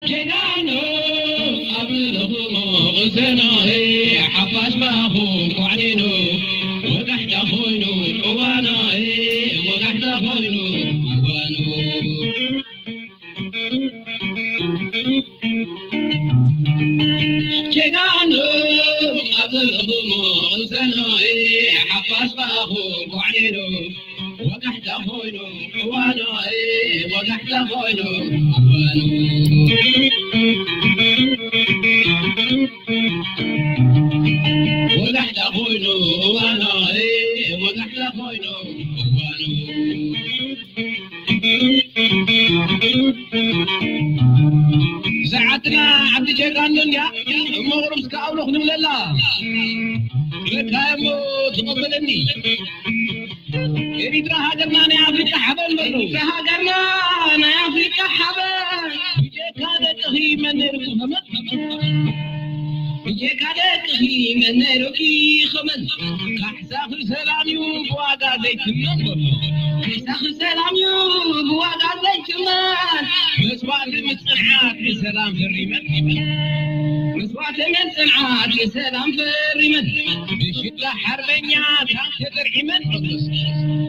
ጀጋኑ ኣብ ለኹሞ ዘናይ ሓፋሽ ባኹ ኳዕኒኑ ወጋሕታ ኮይኑ እዋናይ ወጋሕታ ኮይኑ እዋኑ ጀጋኑ ኣብ ለኹሞ ዘናይ ሓፋሽ ባኹ ኳዕኒኑ ወጋሕታ ኮይኑ እዋኑ፣ ወጋሕታ ኮይኑ እዋኑ። ወጋሕታ ኮይኑ እዋኑ፣ ወጋሕታ ኮይኑ እዋኑ። እዛ ዓድና ዓዲ ጀጋኑ እንድያ፣ እሞ ቁሩብ እስከ ኣውሎ ክንብለላ። በቃ እሞ ተቐበለኒ። ኤሪትራ ሃገርና ናይ ኣፍሪቃ ሓበን በሉ። ኤሪትራ ሃገርና ናይ ኣፍሪቃ ሓበን። ብጀካ ደቅኺ መን ነይሩ ክኸመን? ብጀካ ደቅኺ መን ነይሩ ክኸመን? ካሕሳኺ ሰላም እዩ ብዋጋ ዘይትመን በሉ። ካሕሳኺ ሰላም እዩ ብዋጋ ዘይትመን። መስዋእቲ ምጽንዓት ንሰላም ፈሪመን። መስዋእቲ ምጽንዓት ንሰላም ፈሪመን። ብሽዳ ሓርበኛ ታንክ ተደርዒመን።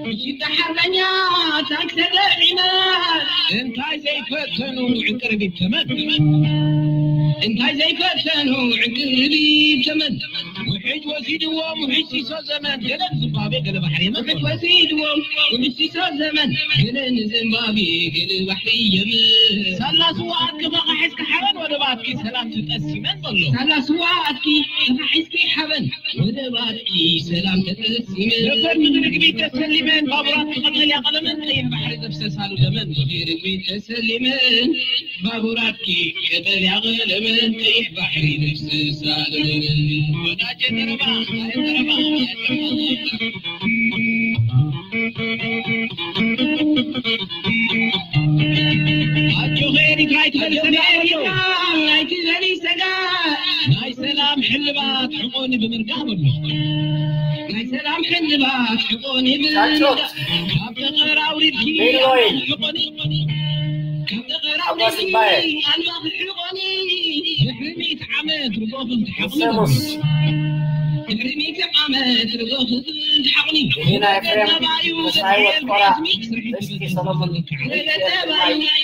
ብሽዳ ሓርበኛ ታንክ ተደርዒመን። እንታይ ዘይፈተኑ ዕንቅርቢት ተመን። እንታይ ዘይፈተኑ ዕንቅርቢት ተመን። ውሕጅ ወሲድዎም ውሕጅ ሲሶ ዘመን። ገለ ዝምባብዌ ገለ ባሕሪ የመን። ውሕጅ ወሲድዎም ውሕጅ ሲሶ ዘመን። ገለ ንዝምባብዌ ገለ ባሕሪ የመን። ሳላ ስዋ ኣትኪ መኻሒስኪ ሓበን ወደባትኪ ሰላም ትጠስመን በሎ። ሳላ ስዋ ኣትኪ መኻሒስኪ ሓበን ወደባትኪ ሰላም ተጠስመን። ነበር ምድሪ ግቢት ተሰሊመን ባቡራት ክቐተል ያቐለመን ቀይሕ ባሕሪ ዘፍሰሳሉ ደመን። ምድሪ ግቢት ተሰሊመን ባቡራትኪ ቀጠልያ ቀለመን ቀይሕ ባሕሪ ነፍስሳ ለመን። ወዳጀ ተረባ፣ ተረባ። ኣጆኺ ኤሪትራ ኣይትበሊ ሰጋ፣ ኣይትበሊ ሰጋ። ናይ ሰላም ሕልባት ሕቆኒ ብምርጋእ በሉ። ናይ ሰላም ሕልባት ሕቆኒ ብምርጋእ። ካብ ጠጠር ኣውሪድኪ ኣልማዝ ሕቆኒ። ካብ ጠጠር ኣውሪድኪ ኣልማዝ ሕቆኒ። ድሕሪ ሚእቲ ዓመት ርጎኽን ትሓቑኒ። ድሕሪ ሚእቲ ዓመት ርጎኽን ትሓቑኒ።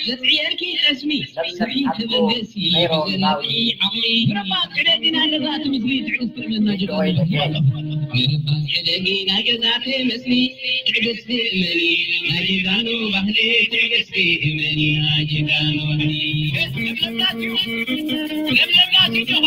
ዘጽዕየርኪ ጠስሚ። ስርሒ ተበገሲ። ብረባት ዕደጊ ናይ ገዛእቲ ምስሊ ትዕግስቲ እመና ጀጋኑ። ብረባት ዕደጊ ናይ ገዛእቲ ምስሊ ትዕግስቲ እመኒ ናይ ጀጋኑ ባህሊ ትዕግስቲ እመኒ ናይ ጀጋኑ ባህሊ። ለምለምና ጅጅጋ።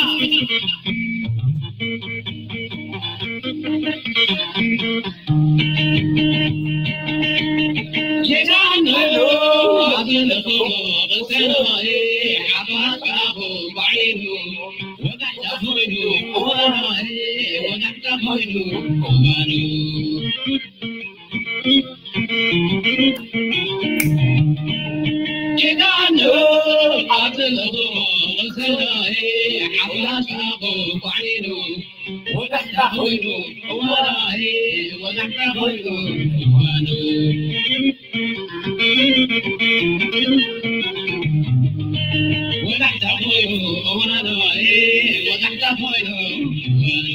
ወጋሕታ ኮይኑ እዋናይ፣ ወጋሕታ ኮይኑ እዋኑ። ወጋሕታ ኮይኑ እዋናይ፣ ወጋሕታ ኮይኑ እዋኑ።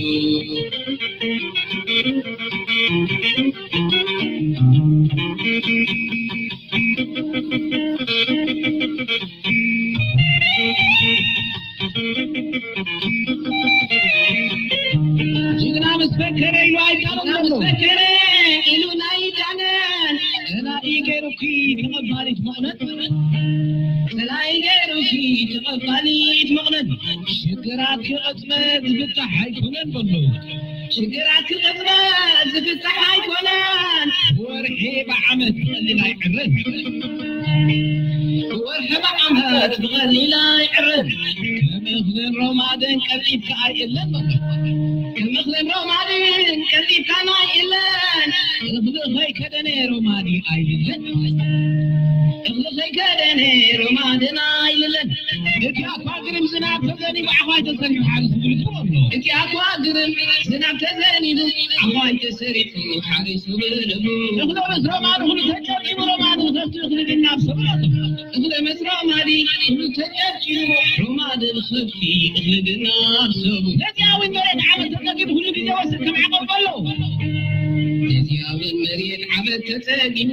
ጅግና ምስ ፈከረ ኢሉ ኣይዳነን ዘሎ። ምስ ፈከረ ኢሉ ናይ ዳነ። ጸላኢ ገይሩኪ ተቐባሊት መቕነት። ጸላኢ ገይሩኪ ተቐባሊት መቕነት። ሽግራት ክቕጽበት ዝፍታሕ ኣይኮነን በሎ። ሽግራት ክቕጽበት ዝፍታሕ ኣይኮነን። ወርሒ ብዓመት ብቐሊል ኣይዕረን። ወርሒ ብዓመት ብቐሊል ኣይዕረን። ከም እኽልን ሮማድን ቀልጢፍካ ኣይእለን በሎ። ከም እኽልን ሮማድን ቀልጢፍካ ኣይእለን። እኽሊ ከይከደነ ሮማዲ ኣይልለን። እኽሊ ከይከደነ ሮማድን ኣይልለን። እቲ ኣኳ ግርም ዝናብ ተዘኒቡ ዓዃይ ተሰሪሑ ሓሪሱ ብልቡ ኣሎ። እቲ ኣኳ ግርም ዝናብ ተዘኒቡ ዓዃይ ተሰሪሑ ሓሪሱ ብልቡ። እኽሊ ምስ ሮማኑ እኽሊ ተጨቂቡ ሮማኑ ተፍቲ እኽሊ ድናብ ሰብሎ። እኽለ መስራማዲ ኩሉ ተጨብጭቡ፣ ሮማደ ብኸብቲ እኽሊ ግና ሰቡ። ነዚኣ እውን መሬት ዓመት ተጠቂሙ ኩሉ ግዜ ወስድ ከም ዓቐብ ኣሎ። ነዚኣ እውን መሬት ዓመት ተጠቂሙ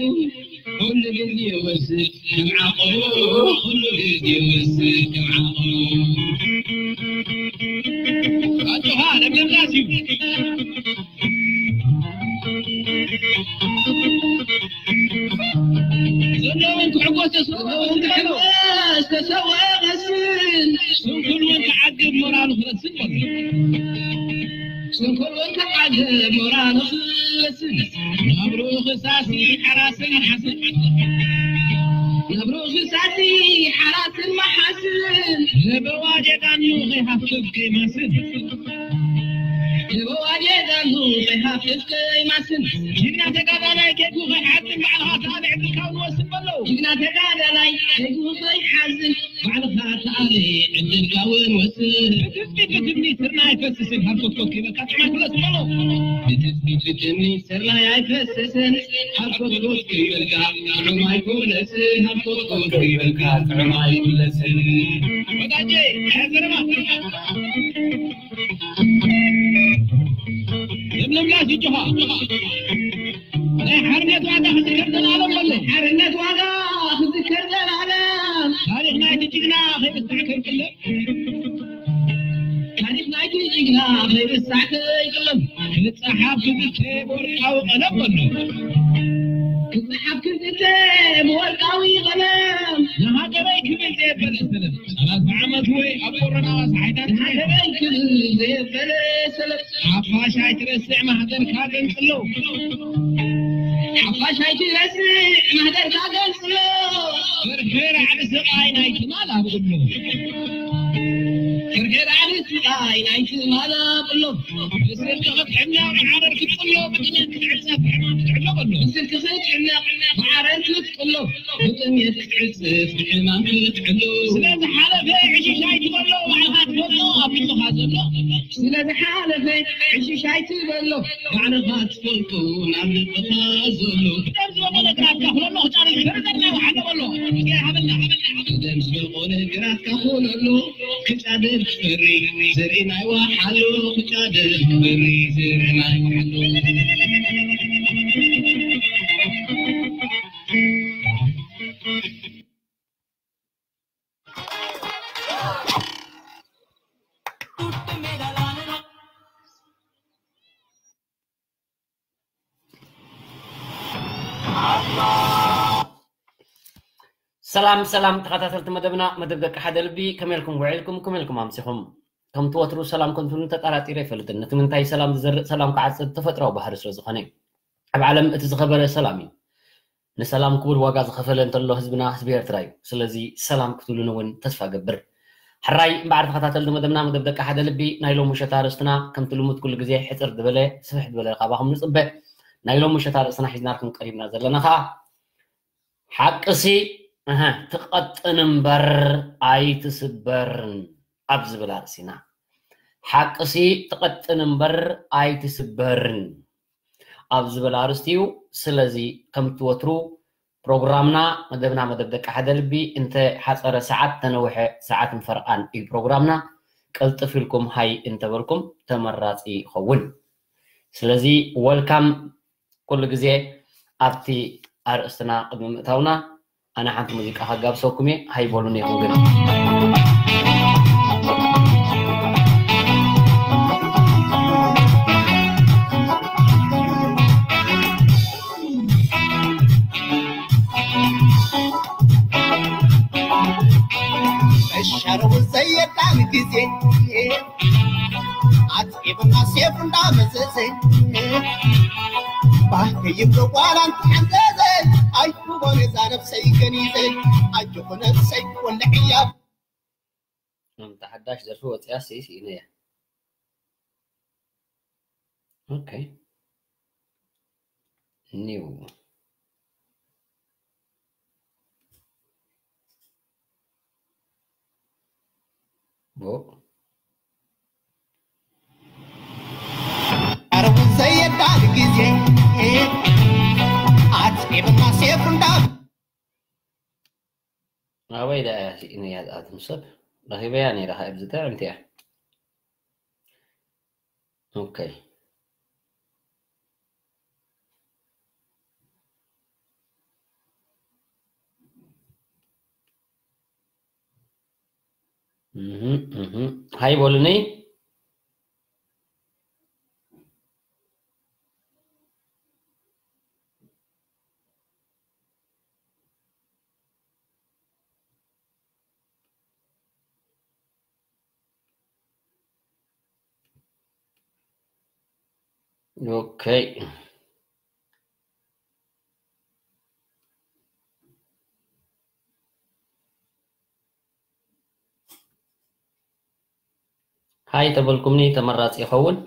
ኩሉ ግዜ ወስድ ከም ዓቐቡ፣ ኩሉ ግዜ ወስድ ከም ዓቐቡ። ኣጆኻ ለምለም ዳስ እዩ። ዘለውን ክሕጎስ ተሰውኦ ክሕጎስ ተሰውኦ ይመስል። ስንኩል እውን ክዓግብ ሞራሉ ክረስን በሎ። ስንኩል እውን ክዓግብ ሞራሉ ክረስን። ነብሩ ክሳሲ ሓራስን ሓስን። ነብሩ ክሳሲ ሓራስን መሓስን። ለበዋ ጀጋኑ ከይሃፍፍ ከይማስን። ለበዋ ጀጋኑ ከይሃፍፍ ከይማስን። ጅግና ተጋዳላይ ከይጉ ከይሓጥን ባዕልኻ ተኣለ ዕድልካ እውን ወስን በሎ። ጅግና ተጋዳላይ ከይጉ ከይሓዝን ባዕልኻ ተኣለ ዕድልካ እውን ወስን። ብትጽቢት ብትምኒት ስርና ኣይፈስስን ሃርኮትኮት ከይበልካ ጥዕና ክለስ በሎ። ብትጽቢት ብትምኒት ስርና ኣይፈስስን ሃርኮትኮት ከይበልካ ጥዑም ኣይኮነስን። ሃርኮትኮት ከይበልካ ጥዑም ኣይኮነስን። ወዳጄ፣ ሕዝርማ። ለምለም ላስ ይጮኻ። ናይ ሓርነት ዋጋ ክዝከር ዘላለም በሎ። ሓርነት ዋጋ ክዝከር ዘላለም። ታሪኽ ናይቲ ጅግና ከይርሳዕ ከይቅለም። ታሪኽ ናይቲ ጅግና ከይርሳዕ ከይቅለም። ክጸሓፍ ክዝተ ብወርቃዊ ቀለም በሎ። ክጸሓፍ ክዝተ ብወርቃዊ ቀለም። ንሃገረይ ክብል ዘየበለ ሰለም። ሰላሳ ዓመት ወይ ኣብ ኮሮና ዋስ ሓይታት ንሃገረይ ክብል ዘየበለ ሰለም። ሓፋሽ ኣይትረስዕ ማህደርካ ገንጽሎ። ሓፋሽ ኣይትረስዕ ማህደርካ ገንጽሎ። ፍርሒ ራዕዲ ስቓይ ናይ ትማል ኣብሎ። ፍርሒ ራዕዲ ስቓይ ናይ ትማል ኣብሎ። ብስርቂ ክትሕነቕ ዓረር ክትቅሎ፣ ብጥሜት ክትዕጸፍ ብሕማም ክትዕሎ በሎ። ብስርቂ ክትሕነቕ ብዓረር ክትቅሎ፣ ብጥሜት ክትዕጸፍ ብሕማም ክትዕሎ። ስለ ዝሓለፈ ዕሽሽ ኣይትበሎ፣ ባዕልኻ ትፈልጦ ኣብ ልብኻ ዘሎ። ስለ ዝሓለፈ ዕሽሽ ኣይትበሎ፣ ባዕልኻ ትፈልጦ ናብ ልብኻ ዘሎ። ብደም ዝበቆለ ግራትካ ኩለሎ፣ ህጻን ዝፈርደና ይወሓሎ በሎ። እስኪ ሃበልና፣ ሃበልና፣ ሃበልና። ብደም ዝበቆለ ግራትካ ኩለሎ፣ ክጫድር ክፈሪ ዘርኢ ናይ ወሓሎ፣ ክጫድር ክፈሪ ዘርኢ ናይ ወሓሎ። ሰላም ሰላም ተኸታተልቲ መደብና፣ መደብ ደቂ ሓደ ልቢ፣ ከመይ ኢልኩም ውዒልኩም? ከመይ ኢልኩም ኣምሲኹም? ከምቲ ወትሩ ሰላም ከንቱን ተጠራጢረ ኣይፈልጥን። ነቲ ምንታይ ሰላም ዝዘርእ ሰላም ክዓጽድ ተፈጥሮኣዊ ባህሪ ስለ ዝኾነ እዩ። ኣብ ዓለም እቲ ዝኸበረ ሰላም እዩ። ንሰላም ክቡር ዋጋ ዝኸፈለ እንተሎ ህዝብና ህዝቢ ኤርትራ እዩ። ስለዚ ሰላም ክትብሉን እውን ተስፋ እገብር። ሕራይ እምበኣር ተኸታተልቲ መደብና፣ መደብ ደቂ ሓደ ልቢ፣ ናይ ሎሚ ምሸት ኣርእስትና ከምቲ ልሙድ ኩሉ ግዜ ሕጽር ዝበለ ስፍሕ ዝበለ ካባኹም ንጽበ። ናይ ሎሚ ምሸት ኣርእስትና ሒዝናልኩም ቀሪብና ዘለና ኸኣ ሓቅሲ፣ እህ፣ ትቐጥን እምበር ኣይትስበርን ኣብ ዝብል ኣርእስቲ ኢና። ሓቅሲ ትቐጥን እምበር ኣይትስበርን ኣብ ዝብል ኣርእስቲ እዩ። ስለዚ ከምቲ ወትሩ ፕሮግራምና፣ መደብና፣ መደብ ደቂ ሓደ ልቢ እንተ ሓጸረ ሰዓት፣ ተነውሐ ሰዓትን ፈረቓን እዩ ፕሮግራምና። ቅልጥፍ ኢልኩም ሃይ እንተበልኩም ተመራጺ ይኸውን። ስለዚ ወልካም ኩሉ ግዜ ኣብቲ ኣርእስትና ቅድሚ ምእታውና ኣነ ሓንቲ ሙዚቃ ከጋብሰኩም እየ። ሃይ በሉኒ ኢኹም ግን። እሻረቡ ዘየዳን ግዜ ኣጽዒቡና ሴፍ እንዳመዘዘ ባህ ይብሎ ጓል ኣንተሓንዘዘ ኣይኩቦን እዛ ነብሰይ ገኒዘ ኣጆኹ ነብሰይ ወልዕያ። ናምታ ሓዳሽ ደርፊ ወፂኣ ሲ ስኢነያ። ኦኬ። ኒው። ቦ። ኣረቡ ዘየዳል ግዜ ኣጽዒብና ሴፍ እንዳ ኣበይ ደኣ እያ ስኢነያ ዝኣትም ሰብ? ረኺበያ ነይረ፣ ካብ ኣብዚ ጥዕምቲ እያ። ኦኬ። እህ፣ እህ። ሃይ በሉኒ። ኦኬ። ሃይ ተበልኩምኒ ተመራጺ ይኸውን።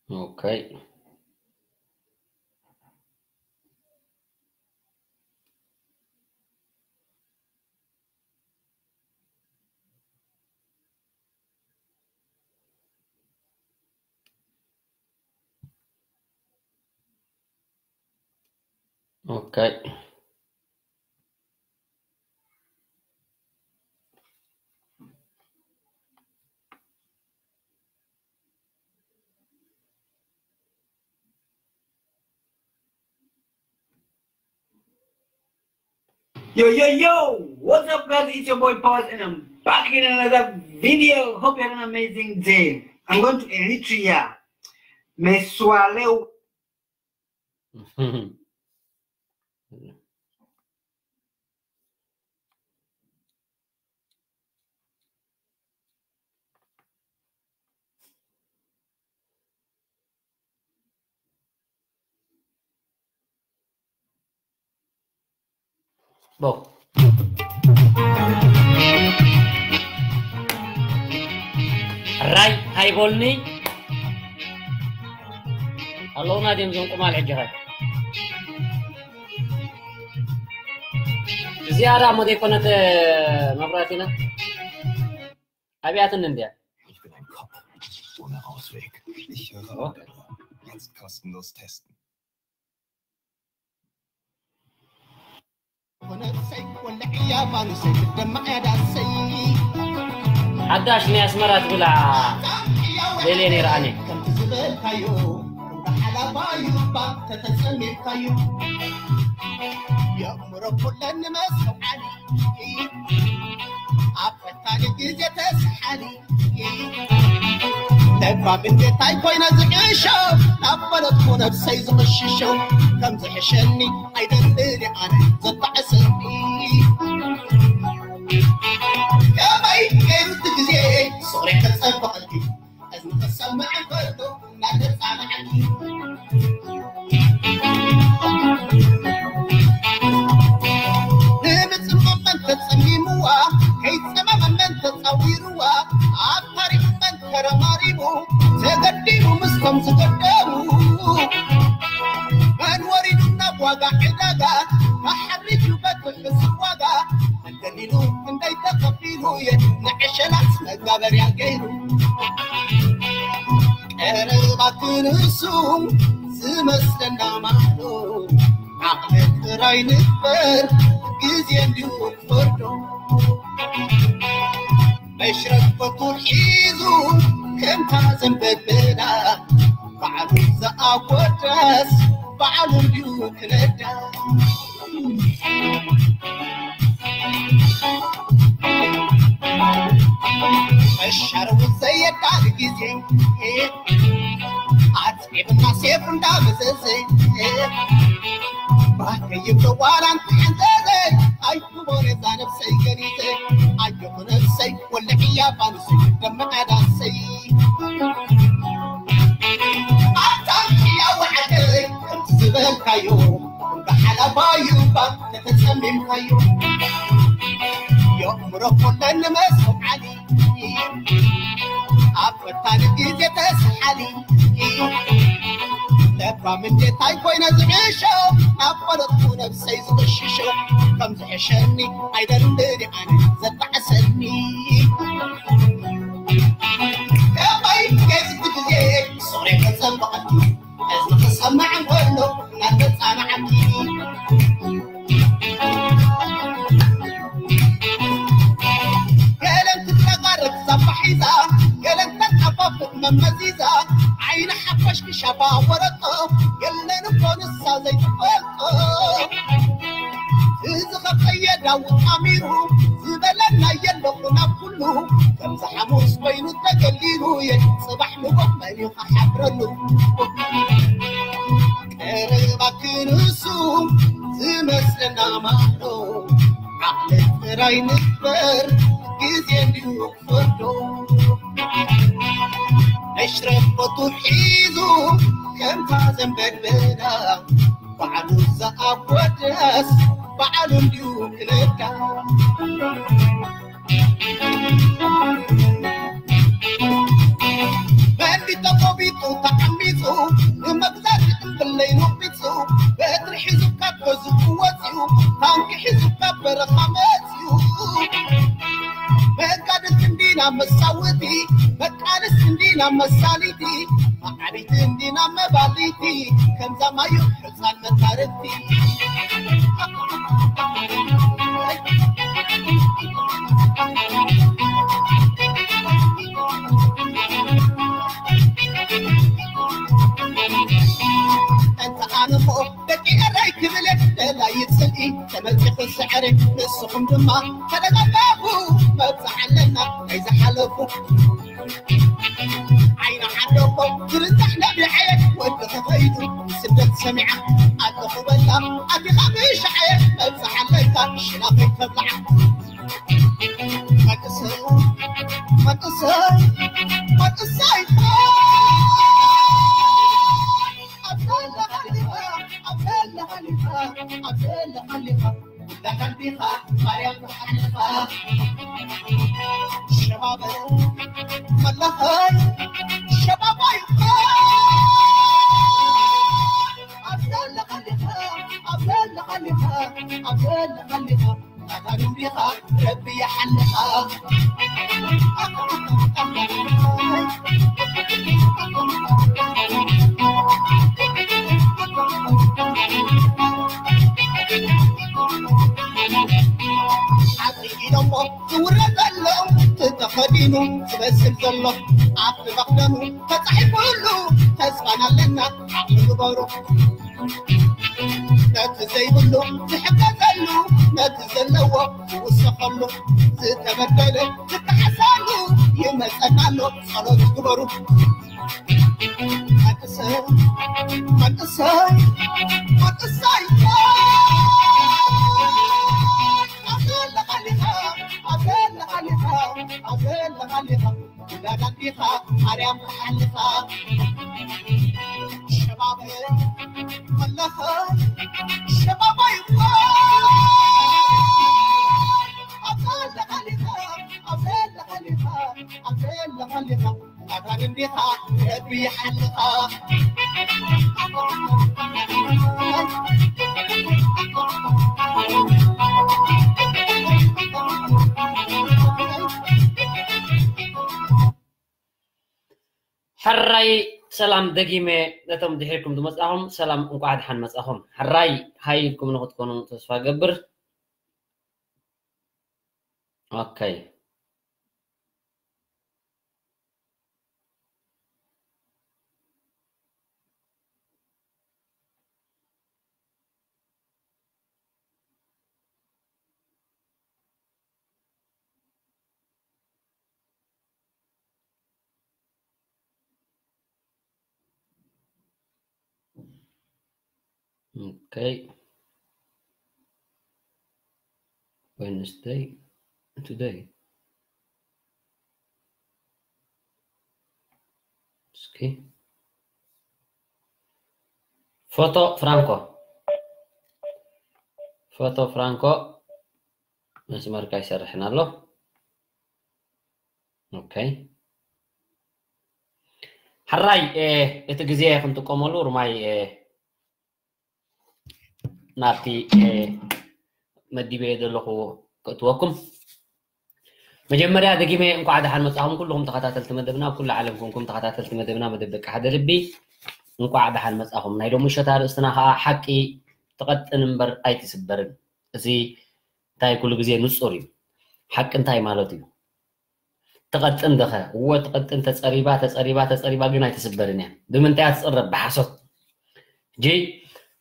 ኦኬ። ኦኬ። Yo, yo, yo! What's up, guys? It's your boy Paz, and I'm back in another video. Hope you had an amazing day. I'm going to Eritrea. Mesualeu. ራይ ሃይቦልኒ ኣለውና ድዮም ዞም ቁማል ሕጂ ኸ? እዚኣ ደኣ እሞ ዘይኮነት መብራህቲና ኣብያትን እንድያ። Ich bin ein Kopf ohne Ausweg. Ich höre auf. Jetzt kostenlos testen. ሓዳሽ ናይ ኣስመራ ትብላ ደልየ ነይረ ኣነ። ከምቲ ዝበልካዮ፣ እንዳ ሓላባ እዩ እባ ተተጸሚምካዮ። የእምሮ ኩለን ንመስተውዓሊ፣ ኣብ ፈታኒ ግዜ ተስሓሊ። ለባም እንዴታይ ኮይነ ዝዕሾ፣ ናብ ፈለጥኩ ነብሰይ ዝቕሽሾ። ከም ዝሕሸኒ ኣይደልን ኣነ ዘጣዕሰኒ። ከመይ ገይሩ እቲ ግዜ ፍቕረይ ከጸብቐልኪ፣ እዝኒ ከሰምዕ እንከሎ እናተጻንዓኒ። ንምጽምመን ተጸሚምዋ፣ ከይጸመመመን ተጻዊርዋ፣ ኣታሪምመን ተረማሪሙ፣ ተገዲሙ ምስቶም ዝገደሙ። መን ወሪዱ ናብ ዋጋ ዕዳጋ፣ ተሓሪጁ በቲ ሕሱር ዋጋ፣ መን ደሊሉ ክንደይ ተኸፊሉ እየ ንዕሸላት መጋበርያ ገይሩ። ቀረባ ክንሱ ዝመስለና ማዕዶ፣ ዓቕሊ ጥራይ ንግበር፣ ግዜ እንዲሁ ክፈርዶ። መሽረፈቱ ሒዙ ከምታ ዘንበልበላ፣ ባዕሉ ዝኣጎደስ ባዕሉ እንዲሁ ክነዳ። መሻርቡ ዘየዳል ግዜ፣ ኣጽዒብና ሴፍ እንዳመዘዘ፣ ባህ ከይብሎ ዋላ እንተሓንዘዘ፣ ኣይትቦሬዛ ነብሰይ ገሊዘ፣ ኣየኹ ነብሰይ ወልዕያ ፋኑሰይ ደመቐ ዳሰይ። ኣታ ሕያው ዓደይ ከምቲ ዝበልካዮ፣ ብሓላፋ እዩ እባ ተተጸሚምካዮ። የእምሮ ኮለን መስተውዓሊ፣ ኣብ ፈታኒ ግዜ ተስሓሊ። ለባም እንዴታይ ኮይነ ዝዕሾ፣ ናብ ፈለጥኩ ነብሰይ ዝቕሽሾ። ከም ዝሕሸኒ ኣይደልን ኣነ ዘጣዕሰኒ። ተንበቐልቲ፣ እዚ ክሰማዕ እንከሎ እናተጻናዕቲ። ገለን ትተቓረብ ሳባ ሒዛ፣ ገለን ተጣፋፍእ መመዚዛ፣ ዓይኒ ሓፋሽ ክሻባ ወረጦ፣ የለን እኮ ንሳ ዘይትፈልጦ። እዚ ኸቐየዳ ውጣሚሩ፣ ዝበለና የለኹ ናብ ኩሉ፣ ከምዚ ሓሙስ ኮይኑ ተገሊሉ፣ የጽባሕ ንጎ መን እዩ ክሓብረሉ? ቀረባ ክንሱ ዝመስለና ማዕዶ፣ ዓቕሊ ጥራይ ንግበር፣ ግዜ እንድዩ ክፈርዶ። መሽረፈቱ ሒዙ ከምታ ዘንበድበዳ፣ ባዕሉ ዝኣጎደስ ባዕሉ እንድዩ ክነዳ። መን ተቖቢጡ ተቐሚጡ፣ ንመግዛእቲ እምብለይ ነቒጹ፣ በትሪ ሒዙ ካብ ገዝኡ ወጺኡ፣ ታንኪ ሒዙ ካብ በረኻ መጺኡ። መጋድልቲ እንዲና መሳውቲ፣ መቃልስቲ እንዲና መሳሊቲ፣ መዓቢቲ እንዲና መባሊቲ፣ ከምዛ ማዩ ሕፃን መታርፍቲ። እንተ ኣነ እሞ ደቂ ኤረይ ክብል ደላይ ጽልኢ ተመጺኹ ስዕሪ፣ ንስኹም ድማ ተደጋጋፉ መብጽዓ ኣለና ናይ ዝሓለፉ። ዓይና ዓደቦ ዝርዛሕ ነቢዐየ ወዲ ተኸይዱ ስደት ሰሚዓ ኣለኹ በላ ኣቲኻ ምሻዓየ መብጽዓ ኣለካ ሽላ ከይተብልዓ። መንእሰይ መንእሰይ መንእሰይ ኣብ ዘለኻ ኣለኻ ኣብ ዘለኻ ኣለኻ ኣብ ዘለኻ ኣለኻ። ለኸልቢኻ ማርያም ተሓልኻ ሸባበ መለኸይ ሸባባይ ኣብ ዘለኻሊኻ ኣብ ዘለኻሊኻ ኣብ ዘለኻሊኻ ኣታሪምቢኻ ረቢ ይሓልኻ። ሓቂ ኢሎሞ ዝውረ ዘሎ ተኸዲኑ ዝመስል ዘሎ ኣብቲ መኽደኑ ተጻሒፉሉ ተስፋና ኣለና ዓቕሊ ግበሩ። ነቲ ዘይብሉ ዝሕገዘሉ ነቲ ዘለዎ ዝውሰኸሉ ዝተበደለ ዝከሓሰሉ ይመጸና ኣሎ ጸሎት ግበሩ። መንእሰይ መንእሰይ መንእሰይ ኣብ ዘለኻሊኻ ኣብ ዘለኻሊኻ ኣብ ዘለኻሊኻ ውላድ ኣዲኻ ማርያም ተሓልኻ ሸባብ መለኸ ሸባብ ኣይኮ ኣብ ዘለኻሊኻ ኣብ ዘለኻሊኻ ኣብ ዘለኻሊኻ ኣታን እንዲኻ ረቢ ይሓልኻ። ሕራይ ሰላም ደጊመ ነቶም ድሒርኩም ዝመጻኹም ሰላም እንቋዕ ደሓን መጻኹም። ሕራይ ሃይ ኢልኩም ንኽትኮኑ ተስፋ ገብር። ኦኬ። Okay. Wednesday, today. እስኪ ፎቶ ፍራንኮ፣ ፎቶ ፍራንኮ መስመርካ ይሰርሕን ኣሎ። ኦኬ። ሕራይ፣ እ፣ እቲ ግዜ ክንጥቀመሉ ርማይ፣ እ፣ ናብቲ፣ እ፣ መዲበ ዘለኹ ከእትወኩም። መጀመርያ ደጊመ እንኳዕ ደሓን መጻኹም ኩልኹም ተኸታተልቲ መደብና፣ ኣብ ኩሉ ዓለም ኮንኩም ተኸታተልቲ መደብና መደብ ደቂ ሓደ ልቢ። እንቋዕ ደሓን መጻኹም። ናይ ሎሚ ምሸት ኣርእስትና ከዓ ሓቂ ትቐጥን እምበር ኣይትስበርን። እዚ እንታይ ኩሉ ግዜ ንጹር እዩ። ሓቂ እንታይ ማለት እዩ? ትቐጥን ደኸ? እወ ትቐጥን፣ ተጸሪባ፣ ተጸሪባ፣ ተጸሪባ ግን ኣይትስበርን እያ። ብምንታይ እያ ትጽረብ? ብሓሶት። ሕጂ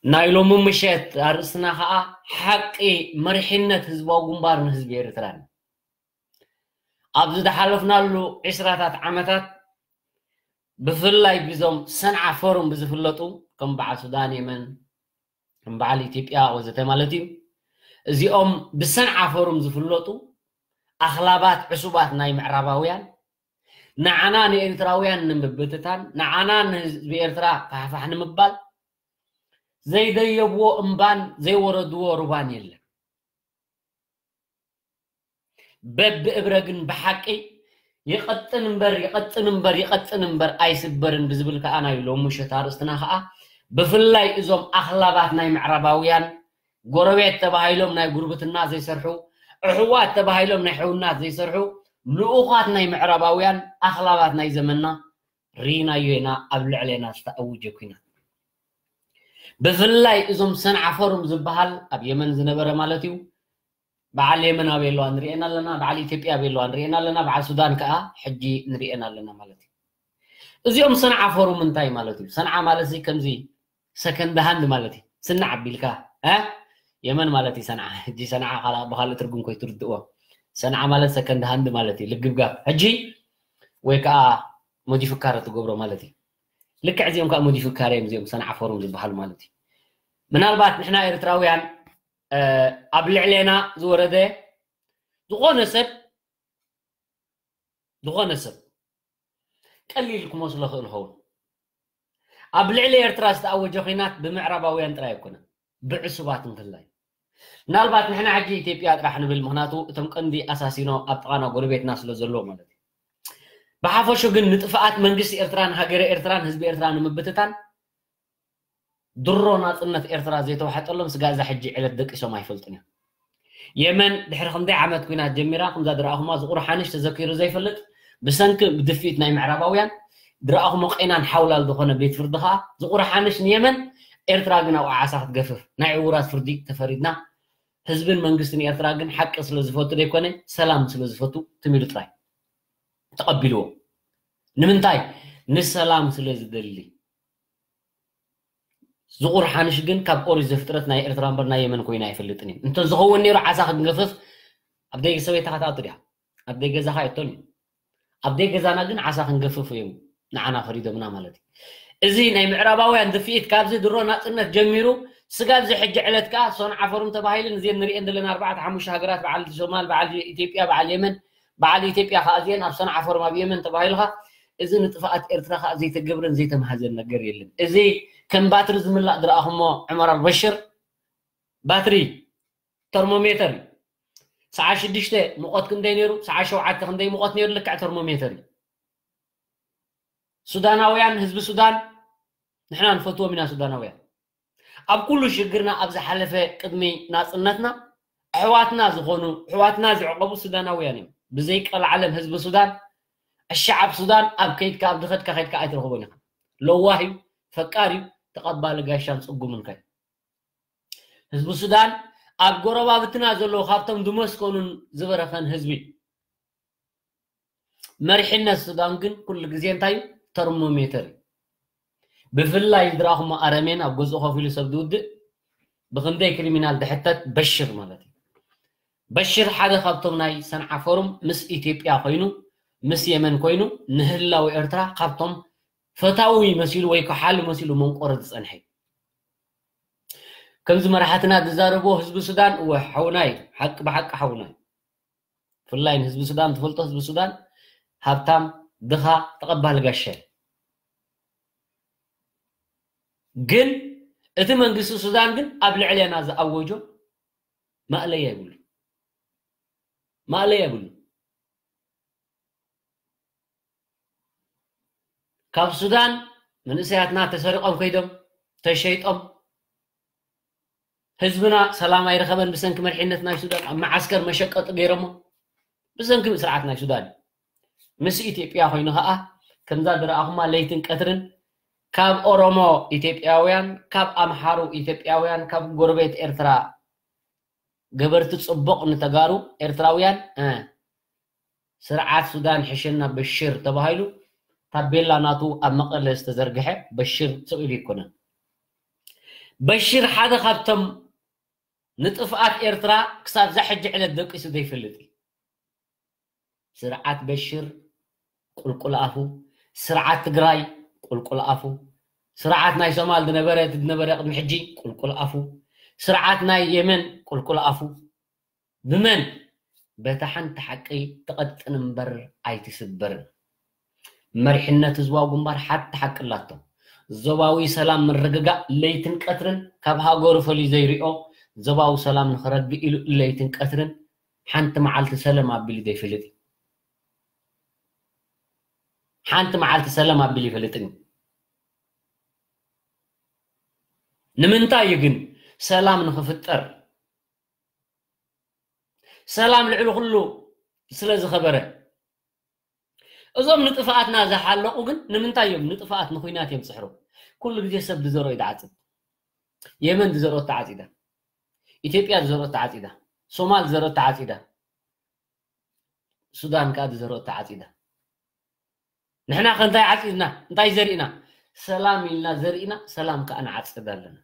ናይ ሎሚ ምሸት ኣርእስትና ከዓ ሓቂ መሪሕነት ህዝባዊ ግንባር ንህዝቢ ኤርትራን። ኣብ ዝደሓለፍናሉ ዕስራታት ዓመታት ብፍላይ ብዞም ሰንዓ ፎሩም ብዝፍለጡ ከም በዓል ሱዳን፣ የመን፣ ከም በዓል ኢትዮጵያ ወዘተ ማለት እዩ። እዚኦም ብሰንዓ ፎሩም ዝፍለጡ ኣኽላባት ዕሱባት ናይ ምዕራባውያን ንዓና ንኤርትራውያን ንምብትታን፣ ንዓና ንህዝቢ ኤርትራ ፋሕፋሕ ንምባል ዘይደየብዎ እምባን ዘይወረድዎ ሩባን የለን። በብእብረ ግን ብሓቂ ይቐጥን እምበር፣ ይቐጥን እምበር፣ ይቐጥን እምበር ኣይስበርን ብዝብል ከኣ ናይ ሎሚ ምሸት ኣርእስትና ከኣ ብፍላይ እዞም ኣኽላባት ናይ ምዕራባውያን ጎረቤት ተባሂሎም ናይ ጉርብትና ዘይሰርሑ፣ ኣሕዋት ተባሂሎም ናይ ሕውናት ዘይሰርሑ፣ ልኡኻት ናይ ምዕራባውያን ኣኽላባት ናይ ዘመንና ርኢናዮ ኢና ኣብ ልዕሌና ዝተኣወጀ ኲናት። ብፍላይ እዞም ሰንዓ ፎሩም ዝበሃል ኣብ የመን ዝነበረ ማለት እዩ። በዓል የመን ኣበይ ኣለዋ ንሪኤን ኣለና፣ በዓል ኢትዮጵያ ኣበይ ኣለዋ ንሪኤን ኣለና፣ በዓል ሱዳን ከኣ ሕጂ ንሪኤን ኣለና ማለት እዩ። እዚኦም ሰንዓ ፎሩም እንታይ ማለት እዩ? ሰንዓ ማለት እዚ ከምዚ ሰከንድ ሃንድ ማለት እዩ። ስናዕ ኣቢልካ እ የመን ማለት እዩ ሰንዓ። ሕጂ ሰንዓ ካላ ብኻልእ ትርጉም ኮይትርድእዎ። ሰንዓ ማለት ሰከንድ ሃንድ ማለት እዩ። ልግብጋብ ሕጂ ወይ ከዓ ሞዲፍካረ ትገብሮ ማለት እዩ። ልክዕ እዚኦም ከዓ ሞዲፍካረ እዮም እዚኦም ሰንዓ ፎሩም ዝበሃሉ ማለት እዩ። ምናልባት ንሕና ኤርትራውያን ኣብ ልዕሌና ዝወረደ ዝኾነ ሰብ ዝኾነ ሰብ ቀሊል ክመስሎ ክእል ኸውን። ኣብ ልዕሊ ኤርትራ ዝተኣወጀ ኹናት ብምዕራባውያን ጥራይ ኣይኮነን፣ ብዕሱባት እንክላይ። ምናልባት ንሕና ሕጂ ኢትዮጵያ ጥራሕ ንብል፣ ምኽንያቱ እቶም ቀንዲ ኣሳሲኖ ኣብ ጥቓና ጎረቤትና ስለ ዘለዎ ማለት እዩ። ብሓፈሹ ግን ንጥፍኣት መንግስቲ ኤርትራን ሃገረ ኤርትራን ህዝቢ ኤርትራ ንምብትታን ድሮ ናጽነት ኤርትራ ዘይተዋሕጠሎም ስጋ እዛ ሕጂ ዕለት ደቂሶም ኣይፈልጡን እዮም። የመን ድሕሪ ክንደይ ዓመት ኲናት ጀሚራ፣ ከምዛ ድረኣኹማ ዝቑር ሓንሽ ተዘኪሩ ዘይፈልጥ፣ ብሰንኪ ብድፍኢት ናይ ምዕራባውያን ድረኣኹሞ ቄናን ሓውላል ዝኾነ ቤት ፍርዲ ኸኣ ዝቑር ሓንሽ ንየመን፣ ኤርትራ ግን ኣብኡ ዓሳ ክትገፍፍ ናይ ዕዉራት ፍርዲ ተፈሪድና። ህዝብን መንግስትን ኤርትራ ግን ሓቂ ስለ ዝፈቱ ደይኮነ ሰላም ስለ ዝፈቱ ትም ኢሉ ጥራይ ተቐቢልዎ። ንምንታይ? ንሰላም ስለ ዝደሊ። ዝቑር ሓንሽ ግን ካብ ኦሪት ዘፍጥረት ናይ ኤርትራ እምበር ናይ የመን ኮይኑ ኣይፈልጥን እዩ። እንተ ዝኸውን ነይሩ ዓሳ ክንገፍፍ ኣብ ደይ ሰበይትኻ ትኣቱ ድያ? ኣብ ደይ ገዛኻ የቶን እዩ። ኣብ ደይ ገዛና ግን ዓሳ ክንገፍፍ እዮም ንዓና ፈሪዶምና ማለት እዩ። እዚ ናይ ምዕራባውያን ድፍኢት ካብዚ ድሮ ናጽነት ጀሚሩ ስጋብ እዚ ሕጂ ዕለት ከኣ ሰንዓ ፎሩም ተባሂለን እዚን ንሪኤን ዘለና ኣርባዕተ ሓሙሽተ ሃገራት በዓል ሶማል፣ በዓል ኢትዮጵያ፣ በዓል የመን፣ በዓል ኢትዮጵያ ከኣ እዚን ኣብ ሰንዓ ፎሩም ኣብ የመን ተባሂልኻ እዚ ንጥፍኣት ኤርትራ ከኣ ዘይተገብረን ዘይተማህዘን ነገር የለን። እዚ ከም ባትሪ ዝምላእ ዝረኣኹሞ ዑመር ኣልበሽር ባትሪ ተርሞሜተር እዩ። ሰዓት ሽዱሽተ ሙቐት ክንደይ ነይሩ? ሰዓት ሸውዓተ ክንደይ ሙቐት ነይሩ? ልክዕ ተርሞሜተር እዩ። ሱዳናውያን፣ ህዝቢ ሱዳን፣ ንሕና ንፈትዎም ኢና ሱዳናውያን። ኣብ ኩሉ ሽግርና ኣብ ዝሓለፈ ቅድሚ ናጽነትና ኣሕዋትና ዝኾኑ፣ ኣሕዋትና ዝዕቐቡ ሱዳናውያን እዮም። ብዘይ ቀልዓለም ህዝቢ ሱዳን፣ ኣሸዓብ ሱዳን ኣብ ከይድካ፣ ኣብ ዝኸድካ ከይድካ ኣይትረኽቦን ኢኻ። ለዋህ እዩ፣ ፈቃር እዩ፣ ተቐባሊ ጋሻን ጽጉምን ከ ህዝቢ ሱዳን ኣብ ጎረባብትና ዘለዉ ካብቶም ዝመስከኑን ዝበረኸን ህዝቢ። መሪሕነት ሱዳን ግን ኩሉ ግዜ እንታይ እዩ? ተርሞሜተር እዩ። ብፍላይ ዝረኣኹሞ ኣረሜን ኣብ ገዝኡ ኮፍ ኢሉ ሰብ ዝውድእ ብኽንደይ ክሪሚናል ዝሕተት በሽር ማለት እዩ። በሽር ሓደ ካብቶም ናይ ሰንዓ ፎሩም ምስ ኢትዮጵያ ኮይኑ፣ ምስ የመን ኮይኑ ንህላው ኤርትራ ካብቶም ፈታዊ መሲሉ ወይ ከሓሉ መሲሉ መንቆረ ዝጸንሐ እዩ። ከምዚ መራሕትና ዝዛረብዎ ህዝቢ ሱዳን እወ ሓውና እዩ፣ ሓቂ ብሓቂ ሓውና እዩ። ብፍላይ ንህዝቢ ሱዳን ትፈልጦ፣ ህዝቢ ሱዳን ሃብታም ድኻ ተቐባሊ ጋሻ እዩ። ግን እቲ መንግስቲ ሱዳን ግን ኣብ ልዕሌና ዝኣወጆ ማእለያ የብሉ፣ ማእለያ የብሉ። ካብ ሱዳን መንእሰያትና ተሰሪቖም ከይዶም ተሸይጦም፣ ህዝብና ሰላም ኣይረኸበን ብሰንኪ መሪሕነት ናይ ሱዳን፣ ኣብ መዓስከር መሸቀጢ ገይሮሞ ብሰንኪ ስርዓት ናይ ሱዳን። ምስ ኢትዮጵያ ኮይኑ ኸኣ ከምዛ ዝረኣኹማ ለይትን ቀትርን ካብ ኦሮሞ ኢትዮጵያውያን፣ ካብ ኣምሓሩ ኢትዮጵያውያን፣ ካብ ጎረቤት ኤርትራ ገበርቲ ጽቡቕ ንተጋሩ ኤርትራውያን፣ እ፣ ስርዓት ሱዳን ሕሸና በሽር ተባሂሉ ታቤላ ናቱ ኣብ መቐለ ዝተዘርግሐ በሽር ስቕ ኢሉ ኣይኮነን። በሽር ሓደ ካብቶም ንጥፍኣት ኤርትራ ክሳብ እዛ ሕጂ ዕለት ደቂሱ ዘይፈልጥ እዩ። ስርዓት በሽር ቁልቁል ኣፉ፣ ስርዓት ትግራይ ቁልቁል ኣፉ፣ ስርዓት ናይ ሶማል ዝነበረ፣ ዝነበረ ቅድሚ ሕጂ ቁልቁል ኣፉ፣ ስርዓት ናይ የመን ቁልቁል ኣፉ። ብመን? በታ ሓንቲ ሓቂ ትቐጥን እምበር ኣይትስበርን። መሪሕነት ህዝባዊ ግንባር ሓንቲ ሓቂ ኣላቶ። ዞባዊ ሰላም ምርግጋእ ለይትን ቀትርን ካብ ሃገሩ ፈልዩ ዘይሪኦ ዞባዊ ሰላም ንኽረግእ ኢሉ ለይትን ቀትርን ሓንቲ መዓልቲ ሰለም ኣቢሉ ዘይፈልጥ እዩ። ሓንቲ መዓልቲ ሰለም ኣቢሉ ይፈልጥን እዩ። ንምንታይ እዩ ግን? ሰላም ንኽፍጠር፣ ሰላም ልዕሊ ኩሉ ስለ ዝኸበረ። እዞም ንጥፍኣትና ዝሓለቑ ግን ንምንታይ እዮም ንጥፍኣት ንኹናት እዮም ዝፅሕሩ? ኩሉ ግዜ ሰብ ዝዘርኦ እዩ ዝዓፅድ። የመን ዝዘርኦ ተዓፂዳ፣ ኢትዮጵያ ዝዘርኦ ተዓፂዳ፣ ሶማል ዝዘርኦ ተዓፂዳ፣ ሱዳን ከዓ ዝዘርኦ ተዓፂዳ። ንሕና ከ እንታይ ዓፂድና? እንታይ ዘሪእና? ሰላም ኢልና ዘሪእና፣ ሰላም ከዓ ንዓፅድ ኣለና።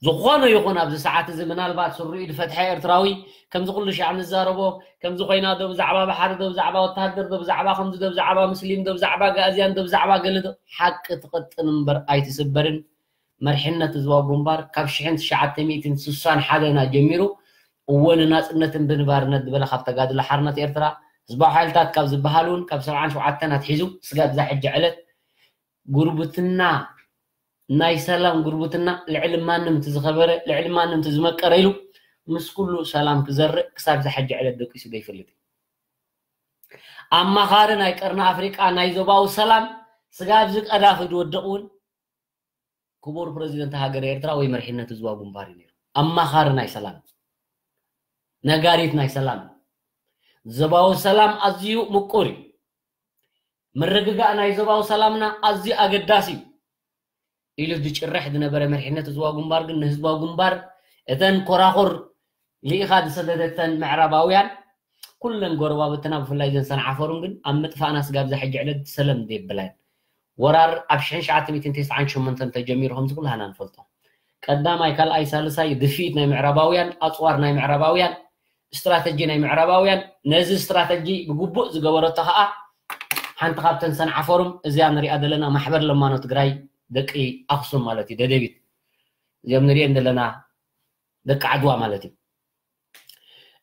ዝኾነ ይኹን ኣብዚ ሰዓት እዚ ምናልባት ስሩኡ ዝፈትሐ ኤርትራዊ ከምዚ ኩሉ ሻዕ ንዛረቦ፣ ከምዚ ኮይና ዶ ብዛዕባ ባሕሪ ዶ ብዛዕባ ወታሃደር ዶ ብዛዕባ ከምዚ ዶ ብዛዕባ ሙስሊም ዶ ብዛዕባ ጋእዝያን ዶ ብዛዕባ ገለ ዶ፣ ሓቂ ትቐጥን እምበር ኣይትስበርን። መሪሕነት ህዝባዊ ግንባር ካብ ሽሕን ትሽዓተ ሚእትን ስሳን ሓደና ጀሚሩ እወ ንናጽነትን ብንባርነት ዝበለ ካብ ተጋድሎ ሓርነት ኤርትራ ህዝባዊ ሓይልታት ካብ ዝበሃል እውን ካብ ሰብዓን ሸውዓተን ኣትሒዙ ስጋብ እዛ ሕጂ ዕለት ጉርብትና፣ ናይ ሰላም ጉርብትና፣ ልዕሊ ማንም እቲ ዝኸበረ፣ ልዕሊ ማንም እቲ ዝመቀረ ኢሉ ምስ ኩሉ ሰላም ክዘርእ ክሳብ እዛ ሕጂ ዕለት ደቂሱ ዘይፈልጥ እዩ። ኣማኻሪ ናይ ቀርኒ ኣፍሪቃ ናይ ዞባዊ ሰላም ስጋብ እዚ ቀዳፊ ዝወድቕ እውን ክቡር ፕረዚደንት ሃገር ኤርትራ ወይ መሪሕነት ህዝባዊ ግንባር እዩ ነይሩ። ኣማኻሪ ናይ ሰላም፣ ነጋሪት ናይ ሰላም። ዞባዊ ሰላም ኣዝዩ ምቁር እዩ። ምርግጋእ ናይ ዞባዊ ሰላምና ኣዝዩ ኣገዳሲ እዩ ኢሉ ዝጭርሕ ዝነበረ መሪሕነት ህዝባዊ ግንባር ግን ንህዝባዊ ግንባር እተን ኮራኹር ልኢኻ ዝሰደደተን ምዕራባውያን ኩለን ጎረባብትና ብፍላይ ዘን ሰንዓፈሩን ግን ኣብ ምጥፋእና ስጋብ እዛ ሕጂ ዕለት ሰለም ዘይብላን። ወራር ኣብ ሽሕን ትሽዓተ ሚእትን ተስዓን ሸሞንተን ተጀሚሩ ከምዚ ኩላህና ንፈልጦ። ቀዳማይ፣ ካልኣይ፣ ሳልሳይ ድፍኢት ናይ ምዕራባውያን፣ ኣጽዋር ናይ ምዕራባውያን፣ ስትራተጂ ናይ ምዕራባውያን። ነዚ ስትራተጂ ብግቡእ ዝገበረቶ ኸኣ ሓንቲ ካብተን ሰንዓፈሩም እዚኣ ንሪኣ ዘለና ማሕበር ለማኖ ትግራይ ደቂ ኣኽሱም ማለት እዩ፣ ደደቢት። እዚኦም ንሪኤን ዘለና ደቂ ዓድዋ ማለት እዩ።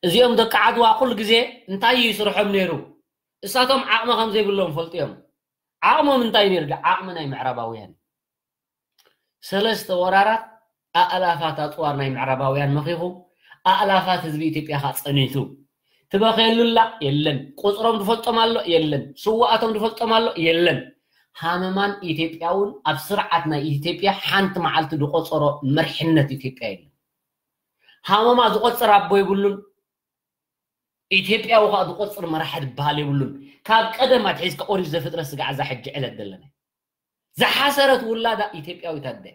እዚኦም ደቂ ዓድዋ ኩሉ ግዜ እንታይ እዩ ስርሖም ነይሩ? እሳቶም ዓቕሚ ከም ዘይብሎም ፈልጡ እዮም። ዓቕሞም እንታይ ነይሩ? ዓቕሚ ናይ ምዕራባውያን። ሰለስተ ወራራት ኣእላፋት ኣጽዋር ናይ ምዕራባውያን መኺኹ፣ ኣእላፋት ህዝቢ ኢትዮጵያ ኸኣ ጸኒቱ። ትበኽየሉላ የለን። ቁጽሮም ዝፈልጦም ኣሎ የለን። ስውኣቶም ዝፈልጦም ኣሎ የለን። ሃመማን ኢትዮጵያ እውን ኣብ ስርዓት ናይ ኢትዮጵያ ሓንቲ መዓልቲ ዝቆጸሮ መርሕነት ኢትዮጵያ የለን። ሃመማ ዝቆጽር ኣቦ የብሉን። ኢትዮጵያዊ ኸኣ ዝቆጽር መራሒ ዝበሃል የብሉን። ካብ ቀደም ኣትሒዝካ ኦሪት ዘፍጥረት ስጋዕ እዛ ሕጂ ዕለት ዘለና። ዝሓሰረት ውላዳ ኢትዮጵያዊት ኣደ።